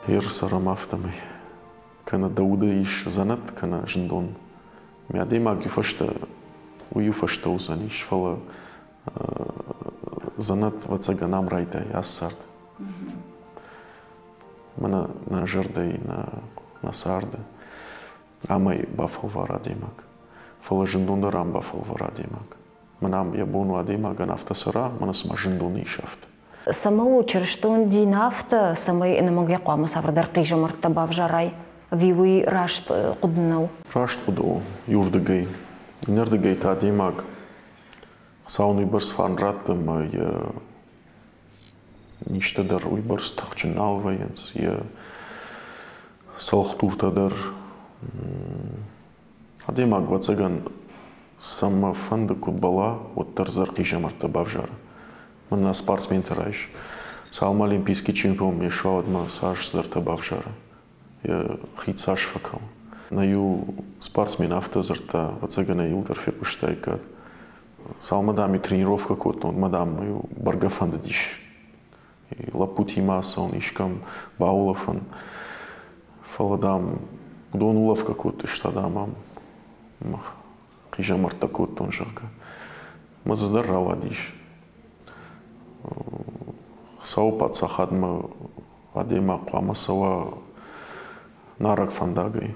Ер цӕрӕм афтӕмӕй. Кӕнӕ дӕ уды ис дзӕнӕт, кӕнӕ зындон. Мӕ адӕймаг иу фӕстӕ, уый иу фӕстӕ уыдзӕнис, фӕлӕ дзӕнӕт, ӕвӕццӕгӕн, ам райдайы ацы цард. Мӕнӕ нӕ зӕрдӕйы, нӕ царды. Амӕй бафӕлвары адӕймаг. Фӕлӕ зындон дӕр ам бафӕлвары адӕймаг. Мӕнӕ ам йӕ бон у адӕймагӕн афтӕ цӕра, мӕнӕ цыма зындоны ис афтӕ. Цӕмӕ у чырыстон дин афтӕ, цӕмӕй ӕнӕмӕнг йӕ хъуамӕ цавӕрдӕр хъизӕмӕрттӕ бавзарай? Ӕви уый раст хъуыды нӕу? Раст хъуыды у иуырдыгӕй. Иннӕрдыгӕй та адӕймаг Хуыцау ын уыйбӕрц фарн радты ӕмӕ йӕ низтӕ дӕр уыйбӕрц тыхджын нал вӕййынц, йӕ цӕлхдуртӕ дӕр. Адӕймаг, ӕвӕццӕгӕн, цӕмӕ фӕнды куы бӕлла, уӕддӕр дзы хъизӕмӕрттӕ бавзары. Мӕнӕ спортсменты райс. Цалынмӕ олимпийский чемпион не суа, уӕдмӕ цас цыдӕртӕ бавзары, йӕ хид цас фӕкӕлы. Нӕ иу спортсмен афтӕ дзырдта, ӕвӕццӕгӕн ӕй иу дӕр фехъуыстаиккат. Цалынмӕ, дам, тренировкӕ кодтон, уӕдмӕ, дам, бӕргӕ фӕндыдис лӕппутимӕ ацӕуын, искӕм баулӕфын. Фӕлӕ, дам, уыдон улӕфгӕ кодтой, стӕй, дам, ам хъизӕмӕрттӕ кодтон, зӕгъгӕ. Мӕ дзы дӕр рауадис. Хуыцауы паддзахадмӕ адӕймаг хъуамӕ цӕуа нарӕг фӕндагӕй.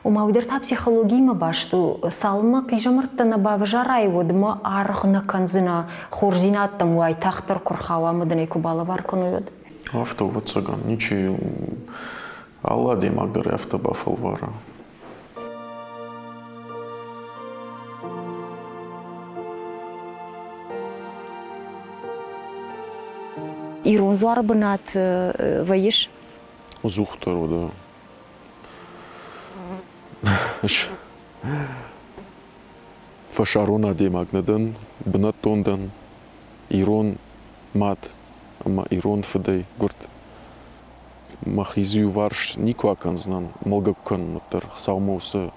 Ома уый дӕр та психологиимӕ баст у. Цалынмӕ хъизӕмӕрттӕ нӕ бавзарай, уӕдмӕ аргъ нӕ кӕндзынӕ, хорздзинӕдтӕм уайтагъддӕр куы рхауа ӕмӕ дын ӕй куы балӕвар кӕной, уӕд. Афтӕ, ӕвӕццӕгӕн, ничи алы адӕймаг дӕр афтӕ бафӕлвары. Ирон дзуары бынат вӕййыс? Ӕдзухдӕр уыд. Фӕсарон адӕймаг нӕ дӕн, бынӕттон дӕн, ирон мад ӕмӕ ирон фыдӕй гуырд. Мӕхи дзы иуварс никуы акӕндзынӕн, мӕлгӕ куы кӕнон, уӕддӕр Хуыцаумӕ уыцы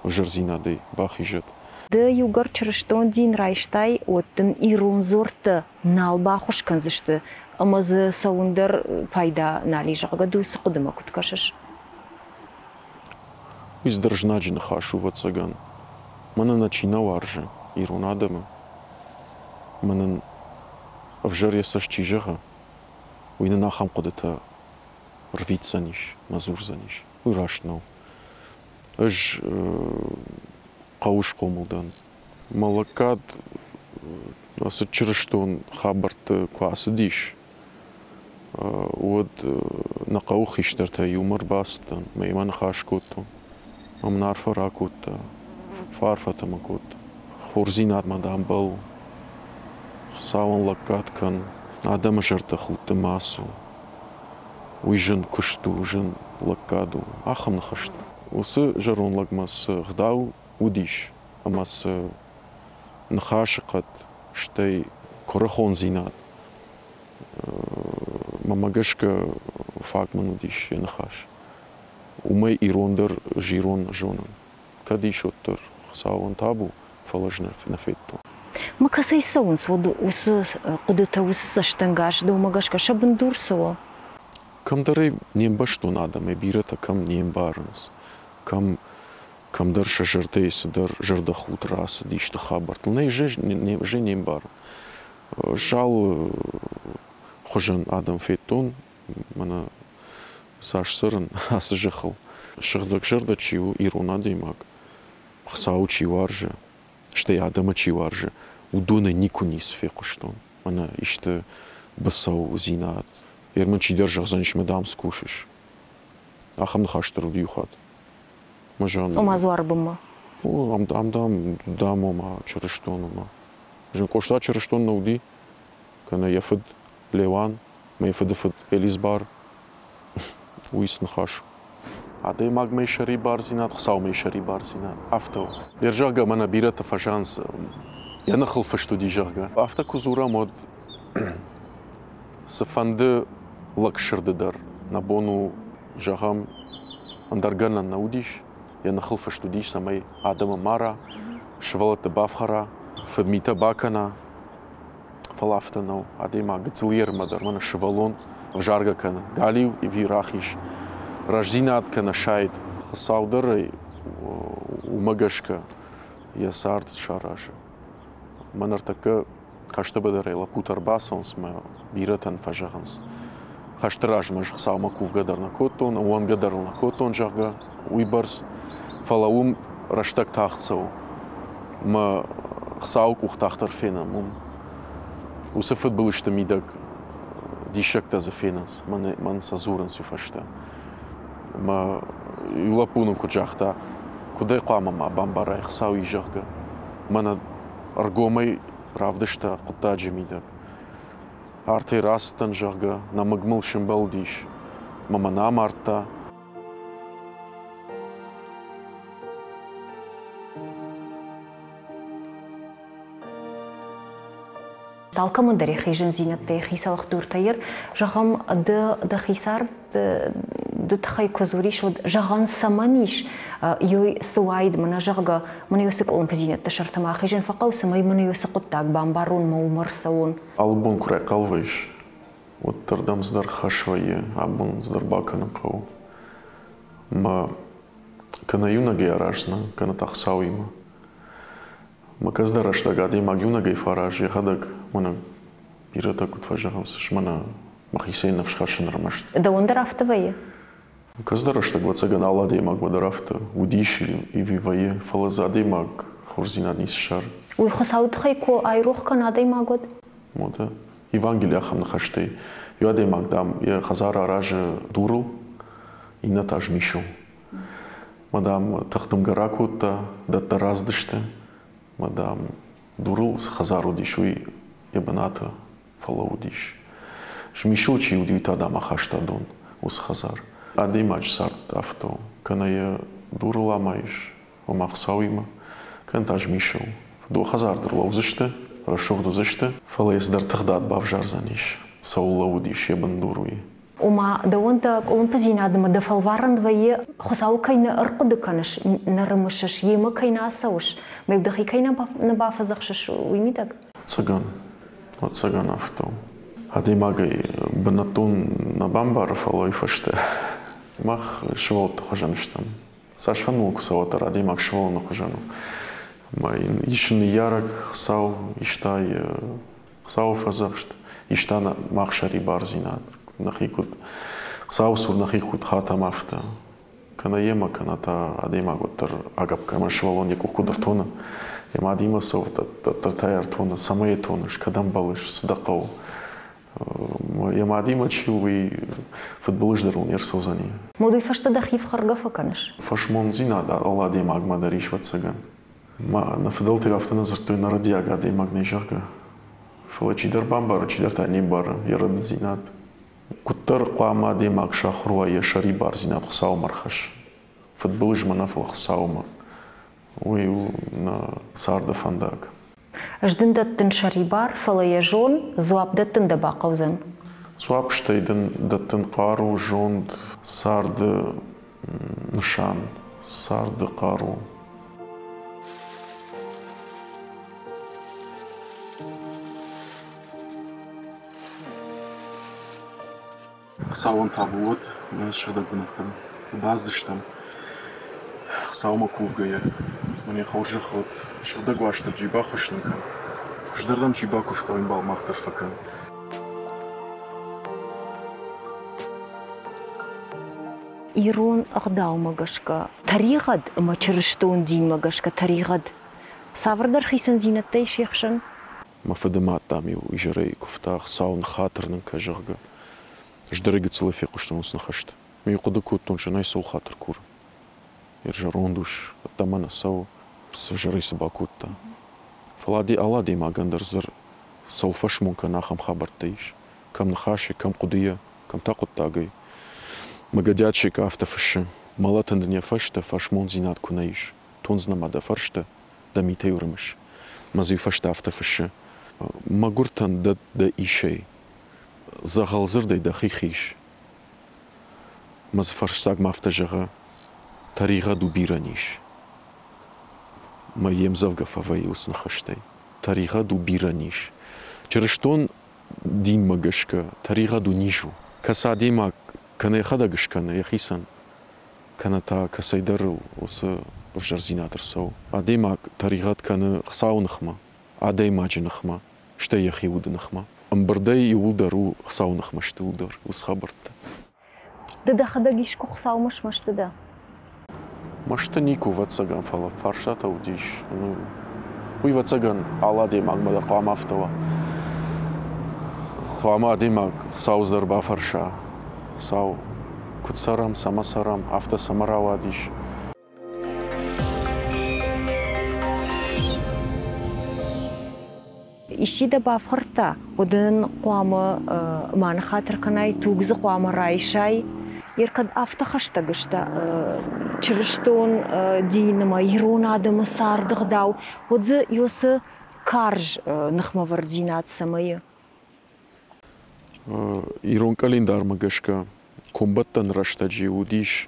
ӕвзӕрдзинадӕй бахизӕд. Ды иугӕр чырыстон дин райстай, уӕд дын ирон дзуӕрттӕ нал баххуыс кӕндзысты ӕмӕ дзы цӕуын дӕр пайда нал и, зӕгъгӕ, ды уыцы хъуыдымӕ куыд кӕсыс? Уый цыдӕр знаджы ныхас у, ӕвӕццӕгӕн. Мӕнӕн нӕ чи нӕ уарзы, ирон адӕмы, мӕнӕн ӕвзӕр йӕ цӕст чи зӕгъы, уый нын ахӕм хъуыдытӕ рвитдзӕнис, нӕ дзурдзӕнис. Уый раст нӕу. Ӕз хъӕуы схъомыл дӕн. Мӕ лӕггад ацы чырыстон хабӕртты куы ацыдис, уӕд нӕ хъӕуы хистӕртӕ иумӕ ӕрбацыдтӕн, мӕимӕ ныхас кодтон. Ӕмӕ мын арфӕ ракодта, фӕарфӕтӕ мӕ кодта. Хорздзинадмӕ, дам, бӕлл, Хуыцауӕн лӕггад кӕн, адӕмы зӕрдӕхудты ма ацу. Уый зын куыст у, зын лӕггад у. Ахӕм ныхӕстӕ. Уыцы зӕронд лӕгмӕ цы гъдау уыдис ӕмӕ цы ныхасы хъӕд, стӕй куырыхондзинад, мӕнмӕ гӕсгӕ фаг мын уыдис йӕ ныхас. Уымӕй ирон дӕр ӕз ирон зонын. Кӕд ис, уӕддӕр Хуыцауӕн табу, фӕлӕ ӕз нӕ федтон. Мӕ кӕцӕй цӕуынц уӕд уыцы хъуыдытӕ, уыцы цӕстӕнгас, дӕумӕ гӕсгӕ сӕ бындур цы у? Кӕмдӕр ӕй не мбӕстон адӕмӕй бирӕтӕ кӕм не мбарынц, кӕм кӕмдӕр сӕ зӕрдӕйы цыдӕр зӕрдӕхудт рацыд исты хабӕрттыл. Нӕ, ӕз не мбарын. Залы хуызӕн адӕм федтон, мӕнӕ цас цӕрын ацы зӕххыл. Сыгъдӕгзӕрдӕ чи у, ирон адӕймаг, Хуыцауы чи уарзы, стӕй адӕмы чи уарзы, уыдонӕй никуы ницы фехъуыстон. Мӕнӕ исты быцӕудзинад. Йер мын чидӕр зӕгъдзӕнис, мӕ дам цы кусыс. Ахӕм ныхас дӕр уыд иу хатт. Мӕ зӕгъын. Ома дзуары бынмӕ? О, ам, ам дам, дам, ома чырыстон, ома. Зын Къоста чырыстон нӕ уыди, кӕнӕ йӕ фыд Леуан, мӕ фыды фыд Элизбар. Уый цы ныхас у? Адӕймагмӕ сӕрибардзинад, Хуыцаумӕ сӕрибардзинад. Афтӕ у. Йе зӕгъгӕ, мӕнӕ бирӕтӕ фӕзӕгъынц, йӕ ныхыл фыст уыди, зӕгъгӕ. Афтӕ куы дзурӕм, уӕд цыфӕнды лӕгсырды дӕр нӕ бон у, зӕгъӕм, ӕндӕр гӕнӕн нӕ уыдис, йӕ ныхыл фыст уыдис, цӕмӕй адӕмы мара, сывӕллӕтты бафхӕра, фыдмитӕ бакӕна. Фӕлӕ афтӕ нӕу. Адӕймаг гыццыл ермӕ дӕр мӕнӕ сывӕллон ӕвзаргӕ кӕны, галиу ӕви рахиз, рӕстдзинад кӕнӕ сайд. Хуыцау дӕр ӕй уымӕ гӕсгӕ йӕ цард саразы. Мӕ ныртӕккӕ хӕсты быдырӕй лӕппутӕ ӕрбацӕуынц мӕ бирӕтӕн фӕзӕгъынц. Хӕсты размӕ ӕз Хуыцаумӕ кувгӕ дӕр нӕ кодтон, ӕууӕндгӕ дӕр ыл нӕ кодтон, зӕгъгӕ, уыйбӕрц. Фӕлӕ уым рӕстӕг тагъд цӕуы. Мӕ Хуыцауы къух тагъддӕр фенӕм уым. Уыцы фыдбылызты мидӕг диссӕгтӕ дзы фенынц, мӕн сӕ дзурынц уый фӕстӕ. Мӕ иу лӕппу нын куыд загъта, куыд ӕй хъуамӕ ма бамбарай, Хуыцау и, зӕгъгӕ. Мӕнӕ ӕргомӕй равдыста хъуыддаджы мидӕг. Артӕй рацыдтӕн, зӕгъгӕ, нӕмыг мыл сымбӕлдис, мӕ мӕ амардта. Алкӕмӕн дӕр йӕхи зындзинӕдтӕ, йӕхи цӕлхдуртӕ ир. Зӕгъӕм, ды дӕхи цард ды тыххӕй куы дзурис, уӕд зӕгъӕн цӕмӕн ис, ёй цы уаид, мӕнӕ зӕгъгӕ, мӕнӕ уыцы къуылымпыдзинӕдты сӕрты ма ахизын фӕхъӕуы, цӕмӕй мӕнӕ уыцы хъуыддаг бамбарон мӕ уымӕ ӕрцӕуон. Алы бон куы райхъал вӕййыс, уӕддӕр дӕм цыдӕр хӕс вӕййы, абон цыдӕр бакӕнын хъӕуы. Мӕ кӕнӕ иунӕгӕй араздзынӕн, кӕнӕ та Хуыцауимӕ. Мӕ кӕцыдӕр рӕстӕг адӕймаг иунӕгӕй фӕаразы йӕхӕдӕг, мӕнӕ бирӕтӕ куыд фӕзӕгъынц, мӕнӕ мӕхицӕй ныфс хӕссын ӕрмӕст. Дӕуӕн дӕр афтӕ вӕййы? Кӕцыдӕр рӕстӕг, ӕвӕццӕгӕн, алы адӕймагмӕ дӕр афтӕ уыдис ӕви вӕййы, фӕлӕ дзы адӕймаг хорздзинад ницы ссары. Уый Хуыцауы тыххӕй куы айрох кӕна адӕймаг, уӕд? Уӕдӕ Евангелийы ахӕм ныхӕстӕй иу адӕймаг, дам, йӕ хӕдзар аразы дурыл, иннӕ та змисыл. Мӕ, дам, тыхдымгӕ ракодта, дӕттӕ рацыдысты, мӕ, дам, дурыл цы хӕдзар уыдис, уый йӕ бынаты фӕлӕууыдис. Змисыл чи уыди, уый та, дам, ахаста дон уыцы хӕдзар. Адӕймаджы цард афтӕ у, кӕнӕ йӕ дурыл амайыс, ома Хуыцауимӕ, кӕнӕ та змисыл. Дыууӕ хӕдзар дӕр лӕудзысты, рӕсугъд уыдзысты, фӕлӕ йӕ цыдӕр тыгъдад бавзардзӕнис, цӕуыл лӕууыдис йӕ бындур, уый. Ома, дӕуӕн дӕ къуылымпыдзинадмӕ дӕ фӕлварӕн вӕййы, Хуыцауы кӕй нӕ ӕрхъуыды кӕныс, нӕ рымысыс, йемӕ кӕй нӕ ацӕуыс, мӕ дӕхи кӕй нӕ бафӕдзӕхсыс, уый мидӕг? Ӕцӕгӕн, ӕцӕгӕн афтӕ у. Адӕймагӕй бынӕттон нӕ бамбары, фӕлӕ уый фӕстӕ мах сывӕллӕтты хуызӕн стӕм. Цас фӕнды куы цӕуа, дӕр адӕймаг сывӕллоны хуызӕн у. Ӕмӕ йын ис ныййарӕг Хуыцау, иста йӕ Хуыцауы фӕдзӕхст, иста мах сӕрибардзинад, нӕхи куыд Хуыцауы цур нӕхи куыд хатӕм, афтӕ. Кӕнӕ йемӕ, кӕнӕ та адӕймаг уӕддӕр агӕпп кӕны, сывӕллон йӕ къух куыд ӕртоны, йӕ мадимӕ цӕуы, дӕддӕр та йӕ ӕртоны, цӕмӕй йӕ тоныс, кӕдӕм бӕллыс, цы дӕ хъӕуы. Йӕ мадимӕ чи у, уый фыдбылыз дӕр ыл не рцӕудзӕни. Уый фӕстӕ дӕхи фхӕргӕ фӕкӕныс? Фӕсмондзинад алы адӕймагмӕ дӕр ис, ӕвӕццӕгӕн. Нӕ фыдӕлтӕ афтӕ нӕ дзырдтой, нӕрӕдиаг адӕймаг нӕй, зӕгъгӕ. Фӕлӕ чидӕр бамбары, чидӕр та не мбары йӕ рӕдыддзинад. Куыддӕр хъуамӕ адӕймаг сахуыр уа йӕ сӕрибардзинад Хуыцаумӕ ӕрхӕссын. Фыдбылызмӕ нӕ, фӕлӕ Хуыцаумӕ. Уый у нӕ царды фӕндаг. Ӕз дын дӕттын сӕрибар, фӕлӕ йӕ зон, дзуапп дӕттын дӕ бахъӕудзӕн. Дзуапп стӕй дын дӕттын хъару, зонд, царды нысан, царды хъару. Хуыцауӕн табу уӕд, нӕ сыгъдӕг бынӕттӕм бацыдыстӕм. Хуыцаумӕ кувгӕйӕ, мӕн йӕ хорзӕх уӕд, сыгъдӕг Уастырджи, баххуыс нын кӕн. Хуыздӕрдӕм чи бакуывта, уый ӕмбал мах дӕр фӕкӕн. Ирон ӕгъдаумӕ гӕсгӕ тӕригъӕд ӕмӕ чырыстон динмӕ гӕсгӕ тӕригъӕд цавӕрдӕр хицӕндзинӕдтӕ ис се хсӕн? Мӕ фыды мад, дам-иу изӕрӕй куывта, Хуыцау ныххатыр нын кӕ, зӕгъгӕ. Ӕз дӕр гыццылӕй фехъуыстон уыцы ныхӕстӕ. Ме хъуыды кодтон, зынӕй цӕуыл хатыр куры. Йе зӕронд ус ӕддӕмӕ нӕ цӕуы, цы взӕрӕй цы бакодта. Фӕлӕ алы адӕймагӕн дӕр дзы цӕуыл фӕсмон кӕны, ахӕм хабӕрттӕ ис. Кӕм ныхасы, кӕм хъуыдыйӕ, кӕм та хъуыддагӕй. Мӕ Гӕдиат афтӕ фыссы, мӕлӕтӕн дын йӕ фӕстӕ фӕсмондзинад куы нӕ ис, тондзынӕ ма дӕ фӕрстӕ, дӕ митӕй ӕрымыс. Мӕ дзы иу фӕстӕ афтӕ фыссы, мӕгуыртӕн дӕ дӕ исӕй, дзӕгъӕлдзырдӕй дӕхи хиз. Мӕ дзы фӕрссагмӕ афтӕ зӕгъы, тӕригъӕд у бирӕ низ. Мӕ йе мдзӕвгӕ фӕвӕййы уыцы ныхӕстӕй. Тӕригъӕд у бирӕ низ. Чырыстон динмӕ гӕсгӕ тӕригъӕд у низ у. Кӕцы адӕймаг кӕнӕ йӕхӕдӕг скӕны йӕхицӕн, кӕнӕ та кӕцӕйдӕр уыцы ӕвзӕрдзинад ӕрцӕуы. Адӕймаг тӕригъӕд кӕны Хуыцауы ныхмӕ, адӕймаджы ныхмӕ, стӕй йӕхи уды ныхмӕ. Ӕмбырдӕй иууылдӕр у Хуыцауы ныхмӕ сты дӕр уыцы хабӕрттӕ. Ды дӕхӕдӕг искуы Хуыцаумӕ смӕсты дӕ? Мӕсты никуы, ӕвӕццӕгӕн, фӕлӕ фарстатӕ уыдис. Уый, ӕвӕццӕгӕн, алы адӕймагмӕ дӕр хъуамӕ афтӕ уа. Хъуамӕ адӕймаг Хуыцауы дӕр бафӕрса. Хуыцау, куыд цӕрӕм, цӕмӕ цӕрӕм, афтӕ цӕмӕ рауадис. Исчи дӕ бафхӕрдта, уӕд ын хъуамӕ ма ныххатыр кӕнай, туг дзы хъуамӕ райсай. Ер кӕд афтӕ хӕстӕг сты чырыстон дин ӕмӕ ирон адӕмы царды гъдау, уӕд дзы уыцы карз ныхмӕвӕрддзинад цӕмӕй? Ирон къӕлиндармӕ гӕсгӕ комбӕттӕн рӕстӕджы уыдис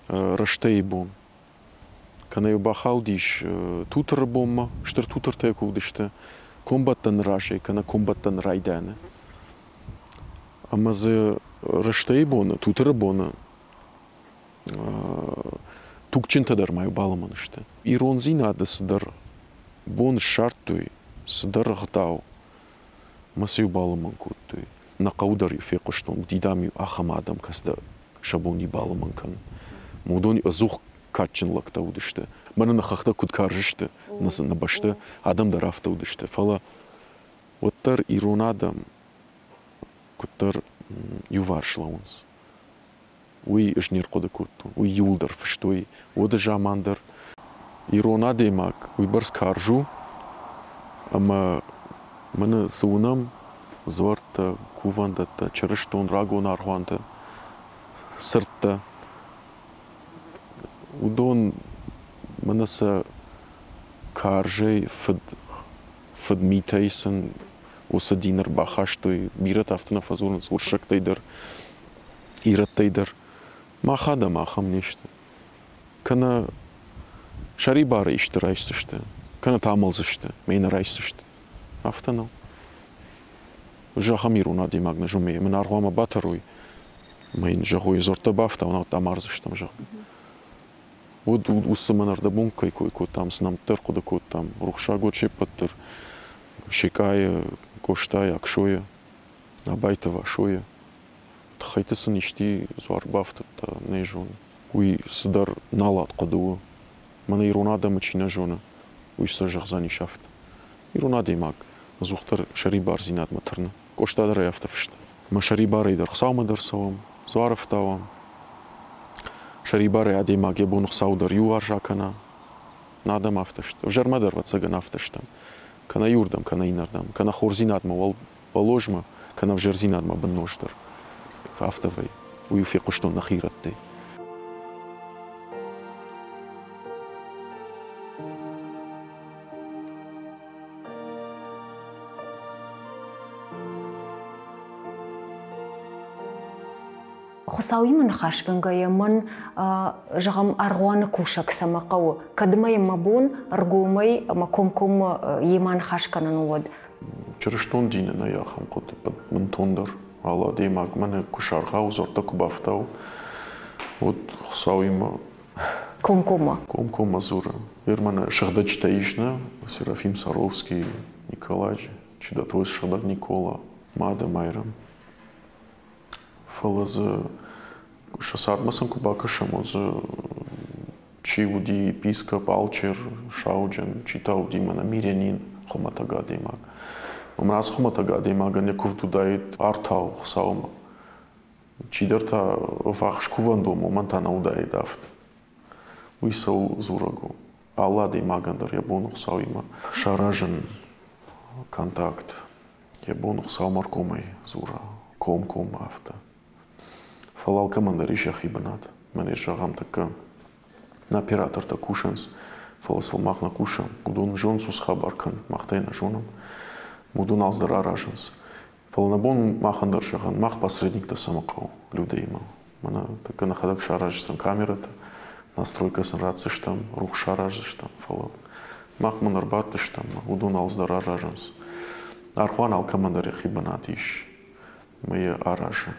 рӕстӕйы бон. Кӕнӕ-иу бахаудис Тутыры бонмӕ, стыр Тутыртӕ куы уыдысты, комбӕттӕны разӕй кӕнӕ комбӕттӕны райдианы. Ӕмӕ дзы рӕстӕйы боны, Тутыры боны тугджынтӕ дӕр ма-иу балымӕн сты. Ирондзинады цыдӕр бон ссардтой, цыдӕр ӕгъдау, мӕ сӕ-иу балымӕн кодтой. Нӕ хъӕуы дӕр-иу фехъуыстон, уыди, дам-иу ахӕм адӕм, кӕцыдӕр сӕ бон балымӕн кӕнын. Уыдон ӕдзух кадджын лӕгтӕ уыдысты. Мӕнӕ нӕ хӕхтӕ куыд карз сты, нӕ бӕсты адӕм дӕр афтӕ уыдысты. Фӕлӕ уӕддӕр ирон адӕм куыддӕр иуварс лӕууынц. Уый ӕз не рхъуыды кодтон. Уый иууылдӕр фыстой уӕды заман дӕр. Ирон адӕймаг уыйбӕрц карз у, ӕмӕ мӕнӕ цы уынӕм, дзуӕрттӕ, кувӕндӕттӕ, чырыстон рагон аргъуантӕ, цырттӕ, уыдон мӕнӕ сӕ карзӕй фыд фыдмитӕй сын уыцы дин ӕрбахастой. Бирӕтӕ афтӕ нӕ фӕдзурынц уырыссӕгтӕй дӕр, ирӕттӕй дӕр. Мах адӕм ахӕм не сты. Кӕнӕ сӕрибары исты райсдзысты, кӕнӕ та амӕлдзысты, мӕ нӕ райсдзысты. Афтӕ нӕу. Ӕз ахӕм ирон адӕймаг нӕ зоны, мын аргъуамӕ батӕрой, ӕмӕ йын зӕгъой, дзуӕрттӕ бафтау, науӕд амардзыстӕм, зӕгъгӕ. Уӕд уыцы мӕн ӕрдӕбон кӕй кой кодтам, цы нӕмттӕ ӕрхъуыды кодтам, рухсаг уӕд се ппӕт дӕр, Секъайы, Къостайы, Аксойы, Абайты Васойы. Тыххӕйты сын исти дзуар бафтыдта, нӕ зоны. Уый цыдӕр налат хъуыды у. Мӕнӕ ирон адӕмы чи нӕ зоны, уый сӕ зӕгъдзӕнис афтӕ. Ирон адӕймаг ӕдзухдӕр сӕрибардзинадмӕ тырны. Къоста дӕр ӕй афтӕ фыста. Мӕ сӕрибарӕй дӕр Хуыцаумӕ дӕр цӕуӕм, дзуар ӕфтауӕм. Сӕрибарӕй адӕймаг йӕ бон Хуыцау дӕр иуварс акӕна. Нӕ адӕм афтӕ сты. Ӕвзӕрмӕ дӕр, ӕвӕццӕгӕн, афтӕ стӕм. Кӕнӕ иуырдӕм, кӕнӕ иннӕрдӕм. Кӕнӕ хорздзинадмӕ уӕллозмӕ, кӕнӕ ӕвзӕрдзинадмӕ бынноздӕр. Афтӕ вӕййы. Уый фехъуыстон нӕхи ирӕттӕй. Хуыцауимӕ ныхасгӕнгӕйӕ мӕн, зӕгъӕм, аргъуаны кусӕг цӕмӕ хъӕуы, кӕд ма йӕм мӕ бон ӕргомӕй ӕмӕ комкоммӕ йемӕ ныхас кӕнын у, уӕд? Чырыстон дины нӕй ахӕм хъуыды бынтондӕр. Алы адӕймаг мӕнӕ куы саргъауы, дзуӕрттӕ куы бафтауы, уӕд Хуыцауимӕ Комкоммӕ. Комкоммӕ дзуры. Ер мӕнӕ сыгъдӕджытӕ ис нӕ, Серафим Саровский, Николай Чудотворец сыгъдӕг Никола, Мады Майрӕм. Фӕлӕ дзы сӕ цардмӕ сын куы бакӕсӕм, уӕд дзы чи уыди епископ, алчер, сауджын, чи та уыди мӕнӕ мирянин, хуымӕтӕг адӕймаг. Мӕн ацы хуымӕтӕг адӕймагӕн йӕ куывд уыдаид артау Хуыцаумӕ. Чидӕр та ӕввахс кувӕндонмӕ, уымӕн та нӕ уыдаид афтӕ. Уый цӕуыл дзурӕг у? Алы адӕймагӕн дӕр йӕ бон у Хуыцауимӕ саразын контакт. Йӕ бон у Хуыцаумӕ ӕргомӕй дзура, комкоммӕ афтӕ. Фӕлӕ алкӕмӕн дӕр ис йӕхи бынат. Мӕнӕ зӕгъӕм, тӕккӕ нӕ оператортӕ кусынц, фӕлӕ сыл мах нӕ кусӕм. Уыдон зонынц уыцы хабар кӕнын, мах та йӕ нӕ зонӕм. Уыдон алцыдӕр аразынц. Фӕлӕ нӕ бон махӕн дӕр зӕгъӕн, мах посредниктӕ цӕмӕ хъӕуы людӕймӕ. Мӕнӕ тӕккӕ нӕхӕдӕг сараздзыстӕм камерӕтӕ, настройкӕ сын ратдзыстӕм, рухс сараздзыстӕм, фӕлӕ мах мын ӕрбадтыстӕм, уыдон алцыдӕр аразынц. Аргъуан алкӕмӕн дӕр йӕхи бынат ис. Ӕмӕ йӕ аразы.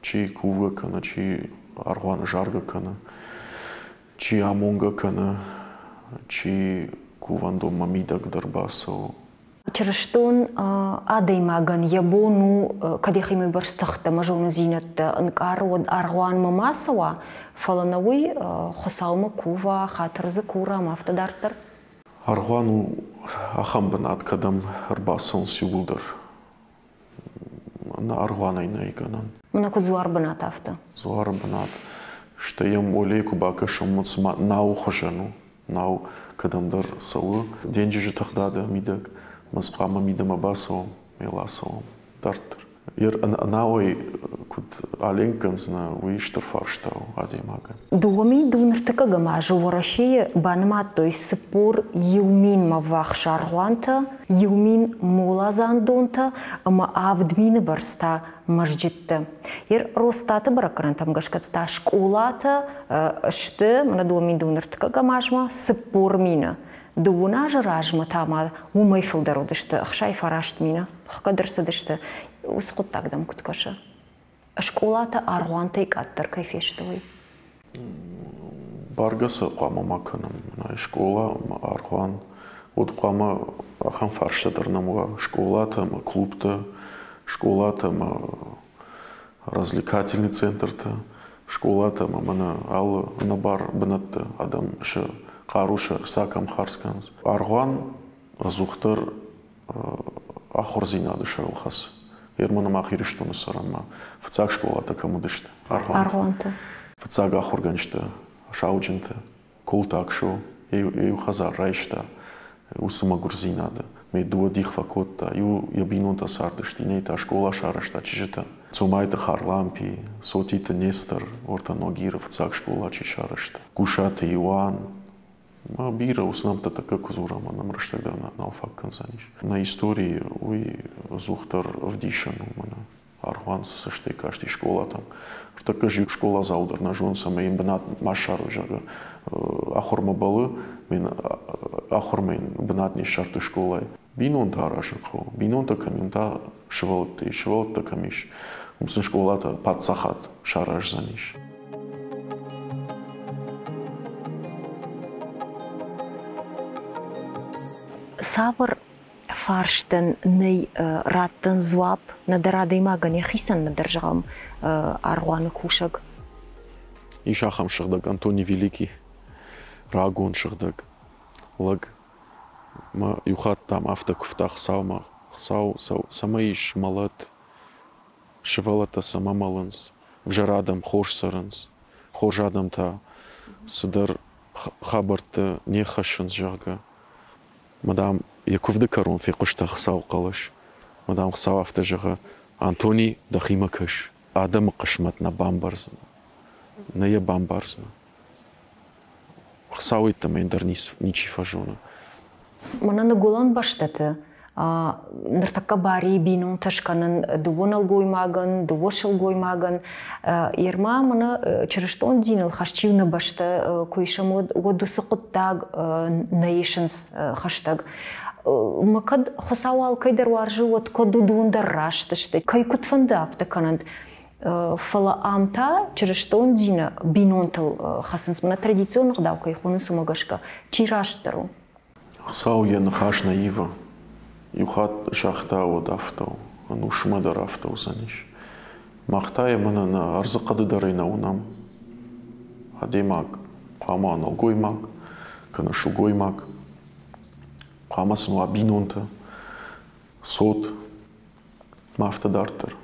Чи кувгӕ кӕны, чи аргъуаны заргӕ кӕны, чи амонгӕ кӕны, чи кувӕндонмӕ мидӕг дӕр бацӕуы. Чырыстон адӕймагӕн йӕ бон у, кӕд йӕхимӕ бӕрц тыхтӕ ӕмӕ зонындзинӕдтӕ ӕнкъары, уӕд аргъуанмӕ ма цӕуа, фӕлӕ нӕ уый Хуыцаумӕ кува, хатыр дзы кура ӕмӕ афтӕ дарддӕр. Аргъуан у ахӕм бынат, кӕдӕм ӕрбацӕуынц иууылдӕр. Нӕ аргъуанӕй нӕй гӕнӕн. Мӕнӕ куыд дзуары бынат, афтӕ. Дзуары бынат. Стӕй йӕм уӕлейы куы бакӕсӕм, уӕд цыма науы хуызӕн у. Нау кӕдӕмдӕр цӕуы денджызы тыгъдады мидӕг, Москвамӕ мидӕмӕ бацӕуӕм, мел ацӕуӕм дарддӕр. Науӕй куыд аленк кӕндзынӕ, уый стыр фарста у адӕймагӕн. 2002 ныртыккӕгӕм азы Уӕрӕсейы банымадтой 41 минмӕ ввахс аргъуантӕ, 1000 моладзандонтӕ ӕмӕ 7000 бӕрц та мӕзджыттӕ. Ер Росстаты бӕрӕггӕнӕнтӕм гӕсгӕ та скъолатӕ сты, мӕнӕ 2002 ныртыккӕгӕм азмӕ 40 мины. Дыууын азы размӕ та ма уымӕй фылдӕр уыдысты 69 мины. Хгӕд ӕрцыдысты. Уыцы хъуыддаг дӕм куыд кӕсы? Скъолатӕ аргъуантӕй къаддӕр кӕй фесты, уый? Бӕргӕ сӕ хъуамӕ ма кӕнӕм. Скъола ӕмӕ аргъуан. Уӕд хъуамӕ ахӕм фарста дӕр нӕм уа. Скъолатӕ ӕмӕ клубтӕ, скъолатӕ ӕмӕ развлекательный центртӕ, скъолатӕ ӕмӕ мӕнӕ алы ӕнӕбар бынӕтты адӕм сӕ хъару сӕ ӕхца кӕм хардз кӕнынц. Аргъуан ӕдзухдӕр ахуырдзинады сӕрыл хӕцы. Ерманы мах Ирыстоны цӕрӕм ма фыццаг скъолатӕ кӕм уыдысты? Аргъуанты. Фыццаг ахуыргӕнджытӕ, сауджынтӕ, Култакшо иу хӕдзар райста уыцы мӕгуырдзинады. Ме дыууӕ дих фӕкодта. Иу йӕ бинонтӕ цардысты, иннӕйы та скъола сарӕзта чызджытӕн. Цомайты Харлампи, Сотиты Нестор, Орта Ногиры фыццаг скъола чи сарӕзта. Гусаты Иоанн, ма бирӕ уыцы нӕмттӕ тӕккӕ куы дзурӕм, нӕм рӕстӕг дӕр нал фаг кӕндзӕнис. Нӕ историйы уый ӕдзухдӕр ӕвдисӕн у мӕнӕ. Аргъуан цы цӕстӕй касти скъолатӕм. Ныртӕккӕ зиу скъоладзау дӕр нӕ зоны, цӕмӕй йын бынат ма ссарой, зӕгъгӕ. Ахуырмӕ бӕллы, ахуырмӕ йын бынат не ссардтой скъолайы. Бинонтӕ аразын хъӕуы. Бинонтӕ кӕм и, уым та сывӕллӕттӕ ис. Сывӕллӕттӕ кӕм ис, уым сын скъолатӕ паддзахад сараздзӕнис. Цавӕр фарстӕн нӕй раттӕн дзуапп нӕдӕр адӕймагӕн йӕхицӕн, нӕдӕр, зӕгъӕм, аргъуаны кусӕг? Ис ахӕм сыгъдӕг Антоний Великий, рагон сыгъдӕг лӕг. Мӕ иу хатт, дам, афтӕ куывта Хуыцаумӕ: Хуыцау, цӕмӕй ис мӕлӕт, сывӕллӕттӕ цӕмӕ мӕлынц, ӕвзӕр адӕм хорз цӕрынц, хорз адӕм та цыдӕр хабӕрттӕ не ххӕссынц, зӕгъгӕ. Мадам йӕ куывды кӕрон фехъуыста Хуыцауы хъӕлӕс. Мадам Хуыцау афтӕ зӕгъы: Антони, дӕхимӕ кӕс, адӕмы хъысмӕт нӕ бамбардзынӕ. Нӕ йӕ бамбардзынӕ. Хуыцау йеддӕмӕ ӕндӕр ничи фӕзоны. Мӕнӕ ныгуылӕн бӕстӕты Ныртӕккӕ бари бинонтӕ скӕнын дыууӕ нӕлгоймагӕн, дыууӕ сылгоймагӕн. Ерма мӕнӕ чырыстон диныл хӕст чи нӕ бӕстӕ куы исӕм, уӕд уыцы хъуыддаг нӕ исынц хӕстӕг. Мӕ кӕд Хуыцау алкӕй дӕр уарзы, уӕд кӕд уыдон дӕр раст сты, кӕй куыд фӕнды, афтӕ кӕнӕнт. Фӕлӕ ам та чырыстон дины бинонтыл хӕцынц, мӕнӕ традицион ӕгъдау кӕй хонынц, уымӕ гӕсгӕ. Чи растдӕр у? Хуыцау йӕ ныхас нӕ ивы. Иу хатт загъта, уӕд афтӕ у, ӕнусмӕ дӕр афтӕ уыдзӕнис. Мах та йӕ мӕнӕ нӕ ӕрдзыхъӕды дӕр ӕй нӕ уынӕм. Адӕймаг хъуамӕ уа нӕлгоймаг кӕнӕ сылгоймаг, хъуамӕ сын уа бинонтӕ, цот ма афтӕ дарддӕр.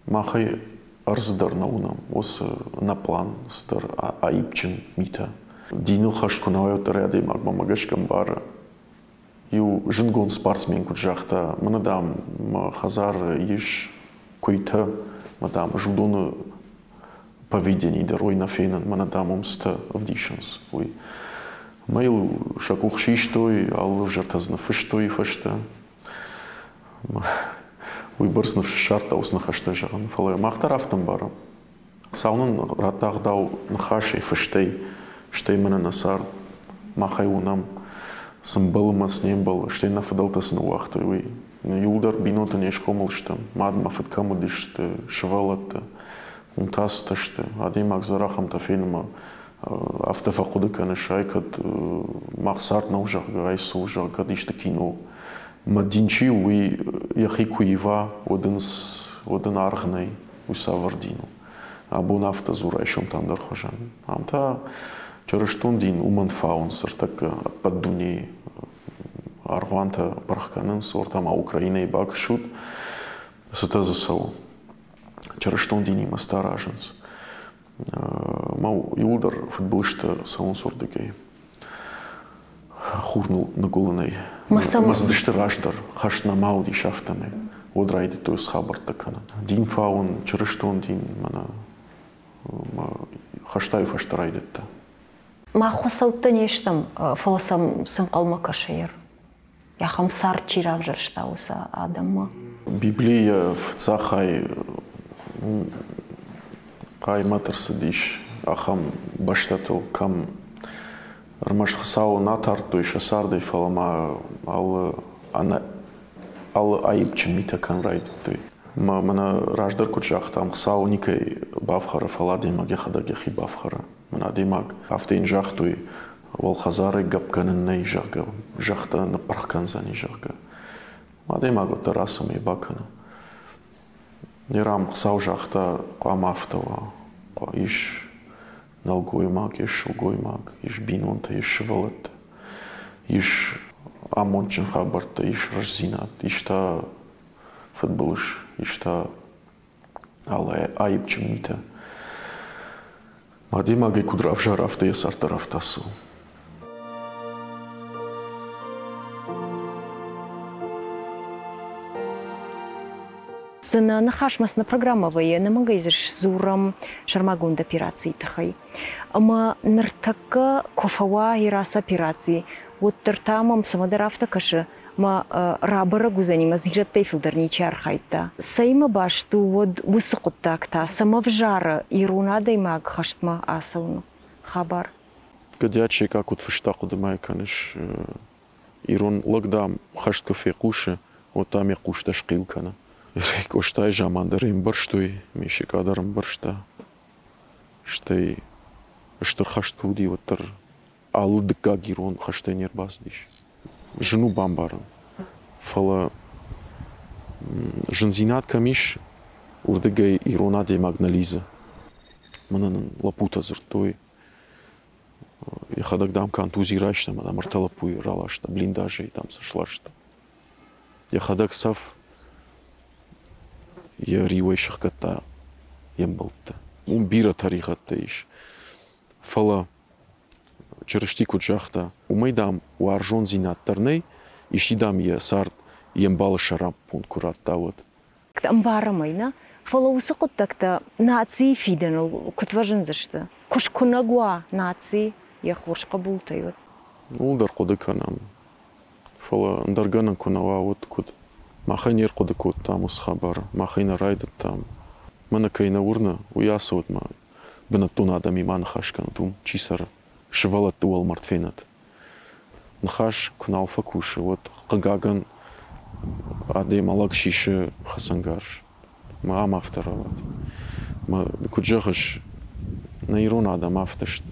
Махӕй ӕрдзы дӕр нӕ уынӕм уыцы ӕнӕпълан цыдӕр аипджын митӕ. Диныл хӕст куы нӕ уай, уӕддӕр адӕймагмӕ мӕ гӕсгӕ ӕмбары. Иу зындгонд спортсмен куыд загъта, мӕнӕ, дам, мӕ хӕдзары ис куыйтӕ, мӕ, дам, ӕз уыдоны поведени дӕр уый нӕ фенын, мӕнӕ, дам, уым цытӕ ӕвдисынц, уый. Ӕмӕ йыл сӕ къух систой, алы ӕвзӕртӕ дзы ныффыстой фӕстӕ. Уыйбӕрц ныфс ссардта уыцы ныхӕстӕ зӕгъын, фӕлӕ мах дӕр афтӕ ӕмбарӕм. Хуыцау нын радта ӕгъдау ныхасӕй, фыстӕй, стӕй мӕнӕ нӕ цард. Мах ӕй уынӕм, цы мбӕлы мӕ цы не мбӕлы, стӕй нӕ фыдӕлтӕ цы ныууагътой, уый. Иуылдӕр бинонтӕ не схъомыл стӕм, мад ӕмӕ фыд кӕм уыдысты, сывӕллӕттӕ. Уым та цытӕ сты, адӕймаг дзы ахӕмтӕ фены мӕ афтӕ фӕхъуыды кӕныс, ай кӕд мах цард нӕу, зӕгъгӕ, ай цы у, зӕгъгӕ, кӕд исты кино. Мӕ дин чи у, уый йӕхи куы ива, уӕд ын, уӕд ын аргъ нӕй, уый цавӕр дин у. Абон афтӕ дзур, райсом та ӕндӕр хуызӕн. Ам та чырыстон дин уымӕн фауынц ӕртӕккӕ ӕппӕт дунейы аргъуантӕ пырх кӕнынц, уӕртӕ ма Украинӕйы бакӕсут, цытӕ дзы цӕуы. Чырыстон динимӕ цытӕ аразынц. Мӕ иуылдӕр фыдбылызтӕ цӕуынц уырдыгӕй. Хур ныгуылынӕй. Мӕ цыдысты раздӕр, хӕст нӕма уыдис, афтӕмӕй. Уӕд райдыдтой хабӕрттӕ кӕнын. Дин фауын, чырыстон дин, мӕнӕ хӕстӕй фӕстӕ райдыдта. Мах хуыцӕуттӕ не стӕм, фӕлӕ сӕм цы ӕнхъӕлмӕ кӕсы ахӕм цард чи равзӕрста, уыцы адӕммӕ? Библийы фыццаг хай хъаймӕт ӕрцыдис ахӕм бӕстӕтыл, кӕм ӕрмӕст Хуыцауы нӕ тардтой сӕ цардӕй, фӕлӕ ма алы ӕнӕ алы аипджын митӕ кӕнын райдыдтой. Мӕ мӕнӕ раздӕр куыд загътам, Хуыцау никӕй бафхӕры, фӕлӕ адӕймаг йӕхӕдӕг йӕхи бафхӕры. Мӕнӕ адӕймаг афтӕ йын загътой, уӕлхӕдзарӕй гӕпп кӕнын нӕй, зӕгъгӕ, зӕхх дӕ ныппырх кӕндзӕни, зӕгъгӕ. Адӕймаг уӕддӕр ацӕмӕй бакӕны. Нерам Хуыцау загъта, хъуамӕ афтӕ уа. Ис нӕлгоймаг, ис сылгоймаг, ис бинонтӕ, ис сывӕллӕттӕ, ис амондджын хабӕрттӕ, ис рӕстдзинад, ис та фыдбылыз, ис та алы аипджын митӕ. Адӕймагӕй куыд равзара, афтӕ йӕ цард дӕр афтӕ цӕуы. Цы нӕ ныхасмӕ, цы нӕ программӕ вӕййы, ӕнӕмӕнгӕй дзы сдзурӕм сӕрмагонд операцийы тыххӕй. Ӕмӕ ныртӕккӕ куы фӕуа Ирасы операци, уӕддӕр та мӕм цӕмӕдӕр афтӕ кӕсы, мӕ рабӕрӕг уыдзӕни, мӕ дзирӕттӕй фылдӕр ничи архайдта. Цӕимӕ баст у уӕд уыцы хъуыддаг та, цӕмӕ взары ирон адӕймаг хӕстмӕ ацӕуыны хабар? Гӕдиат Секъа куыд фыста, хъуыды-ма кӕныс, ирон лӕг, дам, хӕст куы фехъусы, уӕд, дам, йӕ хъустӕ схъил кӕны. Къостайы заман дӕр ӕмбӕрстой, ме Секъа дӕр ӕмбӕрста. Стӕй стыр хӕст куы уыди, уӕддӕр алы дыккаг ирон хӕстӕй не рбацыдис. Зын у бамбарын, фӕлӕ зындзинад кӕм ис, уырдыгӕй ирон адӕймаг нӕ лидзы. Мӕнӕ нын лӕппутӕ дзырдтой, йӕхӕдӕг, дам, контузи райста ӕмӕ, дам, ӕртӕ лӕппуйы раласта, блиндажӕй, дам, сӕ сласта. Йӕхӕдӕг цӕф йӕ риуӕй сыхгӕдта йе мбӕлтты. Уым бирӕ тӕригъӕдтӕ ис. Фӕлӕ Чырысти куыд загъта, уымӕй, дам, уарзондзинад дӕр нӕй, исчи, дам, йӕ цард йе мбалы сӕраппонд куы радта, уӕд. Ӕмбарӕм ӕй, нӕ? Фӕлӕ уыцы хъуыддӕгтӕ нацийы фидӕныл куыд фӕзындзысты? Куы скуынӕг уа наци йӕ хорз хъӕбултӕй, уӕд? Ууыл дӕр хъуыды кӕнӕм. Фӕлӕ ӕндӕр гӕнӕн куы нӕ уа, уӕд куыд? Махӕй не рхъуыды кодтам уыцы хабар, махӕй нӕ райдыдтам. Мӕнӕ кӕй нӕ уырны, уый ацӕуӕд ма бынӕттон адӕмимӕ аныхас кӕнӕд, уым чи цӕры, сывӕллӕтты уӕлмӕрд фенӕд. Ныхас куы нал фӕкусы, уӕд, хъыгагӕн, адӕймаг сисы хӕцӕнгарз. Мӕ ам афтӕ рауад. Мӕ, куыд зӕгъыс, нӕ ирон адӕм афтӕ сты.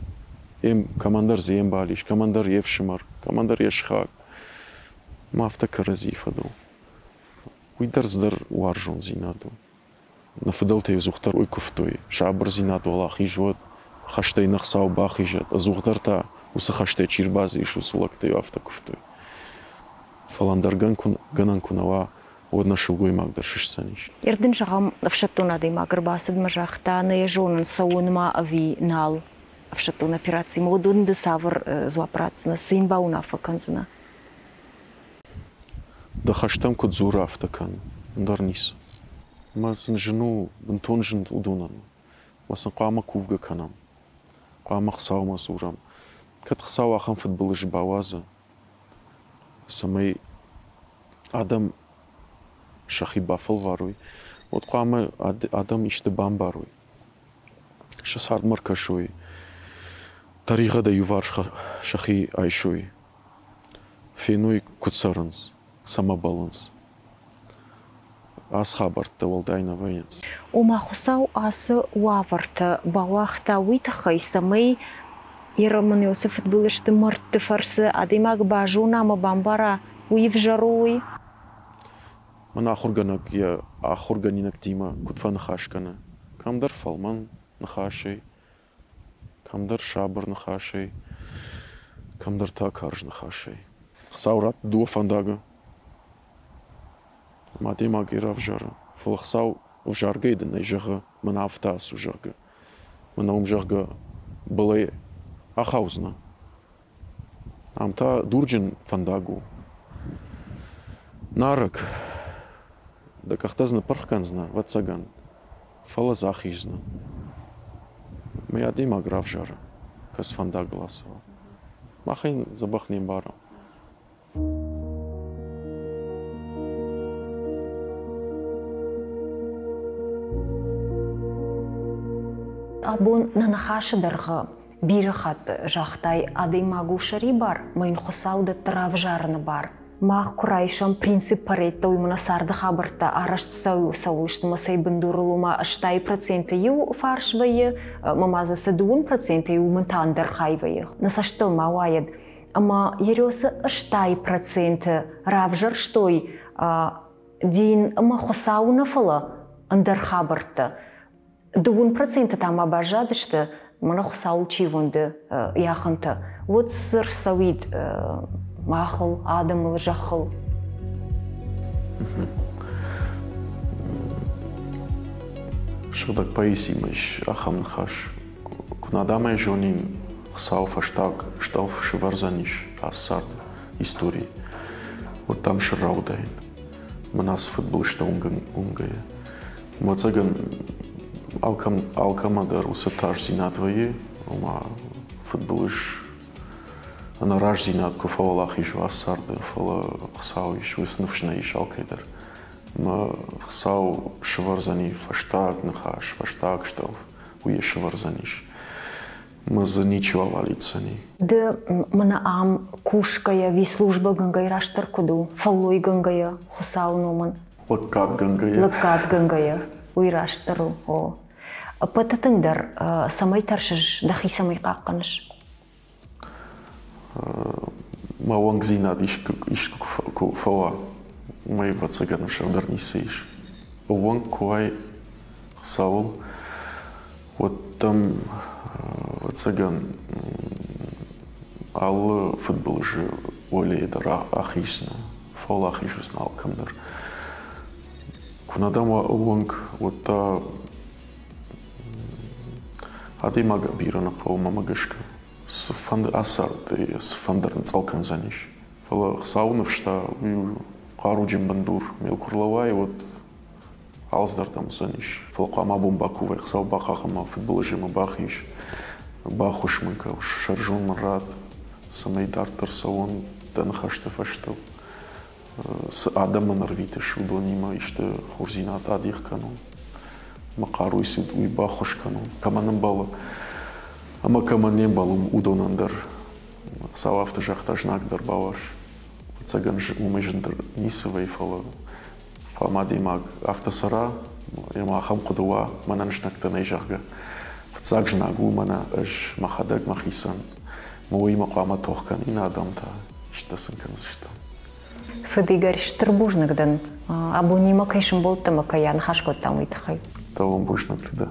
Кӕмӕндӕр дзы йе мбал ис, кӕмӕндӕр йе фсымӕр, кӕмӕндӕр йе сыхаг. Мӕ афтӕ кӕрӕдзийы фӕдыл. Уый дӕр цыдӕр уарзондзинад у. Нӕ фыдӕлтӕ ӕдзухдӕр уый куывтой, сабырдзинад уӕлахиз уӕд, хӕстӕй нӕ Хуыцау бахизӕд, ӕдзухдӕр та уыцы хӕстӕй чи рбадзис, уыцы лӕгтӕ-иу афтӕ куывтой. Фӕлӕ ӕндӕр гӕнӕн куы нӕ уа, уӕд нӕ сылгоймаг дӕр сыстдзӕнис. Ир дын зӕгъӕм, ӕфсӕддон адӕймаг ӕрбацыд мӕ загъта, нӕ йӕ зонын, цӕуын ма ӕви нал ӕфсӕддон операцимӕ, уыдон ды цавӕр дзуапп ратдзынӕ, цы йын бауынаффӕ кӕндзынӕ? Дӕ хӕстӕм куыд дзуры, афтӕ кӕн, ӕндӕр ницы. Мӕ сын зын у, бынтон зын уыдонӕн. Мӕ сын хъуамӕ кувгӕ кӕнӕм. Хъуамӕ Хуыцаумӕ дзурӕм. Кӕд Хуыцау ахӕм фыдбылыз бауадзы, цӕмӕй адӕм сӕхи бафӕлварой, уӕд хъуамӕ адӕм исты бамбарой, сӕ цардмӕ ӕркӕсой, тӕригъӕдӕй иуварс сӕхи айсой. Феной, куыд цӕрынц, цӕмӕ бӕллынц. Ацы хабӕрттӕ уӕлдай нӕ вӕййынц. Ома Хуыцау ацы уавӕртӕ бауагъта уый тыххӕй, цӕмӕй Иеромын Иосиф фыдбылызты мӕрдты фӕрцы адӕймаг базона ӕмӕ бамбара, уый ӕвзӕр у, уый? Мӕн ахуыргӕнӕг йӕ ахуыргӕнинӕгтимӕ куыд фӕныхас кӕны, кӕмдӕр фӕлмӕн ныхасӕй, кӕмдӕр сабыр ныхасӕй, кӕмдӕр та карз ныхасӕй. Хуыцау радт дыууӕ фӕндагы. Ӕмӕ адӕймаг йӕ равзары. Фӕлӕ Хуыцау ӕвзаргӕйӕ дын ӕй зӕгъы, мӕнӕ афтӕ ацу, зӕгъгӕ. Мӕнӕ уым, зӕгъгӕ, былӕй ахаудзынӕ. Ам та дурджын фӕндаг у. Нарӕг. Дӕ къӕхтӕ дзы ныппырх кӕндзынӕ, ӕвӕццӕгӕн, фӕлӕ дзы ахиздзынӕ. Мӕ адӕймаг равзары, кӕцы фӕндагыл ацӕуа. Мах ӕй дзӕбӕх не мбарӕм. Абон нӕ ныхасы дӕргъы бирӕ хатт загътай, адӕймаг у сӕрибар, мӕ йын Хуыцау дӕтты равзарыны бар. Мах куы райсӕм принцип пареттӕ, уый мӕнӕ царды хабӕрттӕ арӕзт цӕуыл сты мӕ цӕй бындурыл, ома 80% иу фарс вӕййы, ӕмӕ ма дзы цы 2% уымӕн та ӕндӕр хай вӕййы. Нӕ цӕстыл ма уайӕд, ӕмӕ Ересы 80% равзӕрстой дин ӕмӕ Хуыцауы нӕ, фӕлӕ ӕндӕр хабӕрттӕ. 2% та ма баззадысты, мӕнӕ Хуыцауыл чи уӕнды, йӕхӕнтӕ. Уӕд цы рцӕуид махыл, адӕмыл, зӕххыл? Сыгъдӕг поэзимӕ ис ахӕм ныхас. Куы нӕ адӕмӕй зонин, Хуыцау фӕстаг стъӕлф сывӕрдзӕнис ацы царды историйы, уӕд дӕм сӕрра уыдаин. Мӕн ацы фыдбылызтӕ уынгӕйӕ. Ӕвӕццӕгӕн, алкӕмӕ дӕр уыцы тасдзинад вӕййы, ома фыдбылыз ӕнӕраздзинад куы фӕуӕлахиз уа царды, фӕлӕ Хуыцау ис, уыцы ныфс нӕ ис алкӕй дӕр. Мӕ Хуыцау сывӕрдзӕни фӕстаг ныхас, фӕстаг стъӕлф, уый йӕ сывӕрдзӕнис. Мӕ дзы ничиуал алидздзӕни. Ды мӕнӕ ам кусгӕйӕ, ӕви службӕгӕнгӕйӕ растдӕр куыд у, фӕллойгӕнгӕйӕ Хуыцауы номӕн? Лӕггадгӕнгӕйӕ. Лӕггадгӕнгӕйӕ, уый растдӕр у, о. Ӕппӕты тынгдӕр цӕмӕй тӕрсыс, дӕхи цӕмӕй хъахъхъӕныс? Мӕ уӕнгдзинад искуы куы фӕуа, уымӕй, ӕвӕццӕгӕн, ӕвзӕрдӕр ницы ис. Ӕууӕнк куы уай Хуыцауыл, уӕд дӕм, ӕвӕццӕгӕн, алы фыдбылызы уӕлейы дӕр ахиздзынӕ, фӕуӕлахиз уыдзынӕ алкӕм дӕр. Куы нӕ дӕм уа ӕууӕнк, уӕд та адӕймагӕн бирӕ нӕ хъӕуы, мӕнмӕ гӕсгӕ. Цыфӕнды ацарды, цыфӕнды ӕрныцъӕл кӕндзӕнис. Фӕлӕ Хуыцауы ныфс та уый у хъаруджын бындур. Мел куы рлӕууай, уӕд алцыдӕр дӕм уыдзӕнис. Фӕлӕ хъуамӕ абон бакувай, Хуыцау бахъахъхъӕн мӕ фыдбылызӕй мӕ бахиз, баххуыс мын кӕ, сӕрзон мын ратт, цӕмӕй дарддӕр цӕуон дӕ ныхӕсты фӕстӕ. Цы адӕмӕн ӕрвитыс, уыдонимӕ исты хорздзинад адих кӕнон. Мӕ хъаруйы цы уый баххуыс кӕнон, кӕмӕн ӕмбӕлы ӕмӕ кӕмӕн не мбӕлы, уыдонӕн дӕр. Хуыцау афтӕ загъта, знаг дӕр бауарз. Ӕцӕгӕн уымӕй зындӕр ницы вӕййы, фӕлӕ хъуамӕ адӕймаг афтӕ цӕра, ӕмӕ ахӕм хъуыды уа, мӕнӕн знӕгтӕ нӕй, зӕгъгӕ. Фыццаг знаг у мӕнӕ ӕз мӕхӕдӕг мӕхицӕн. Мӕ уыимӕ хъуамӕ тох кӕнин адӕм та, исты сын кӕндзыстӕм. Фыд Игорь, стыр бузныг дын, абонимӕ кӕй сымбӕлдтӕ ӕмӕ кӕй аныхас кодтам, уый тыххӕй. Дӕуӕн бузныг, Людӕ.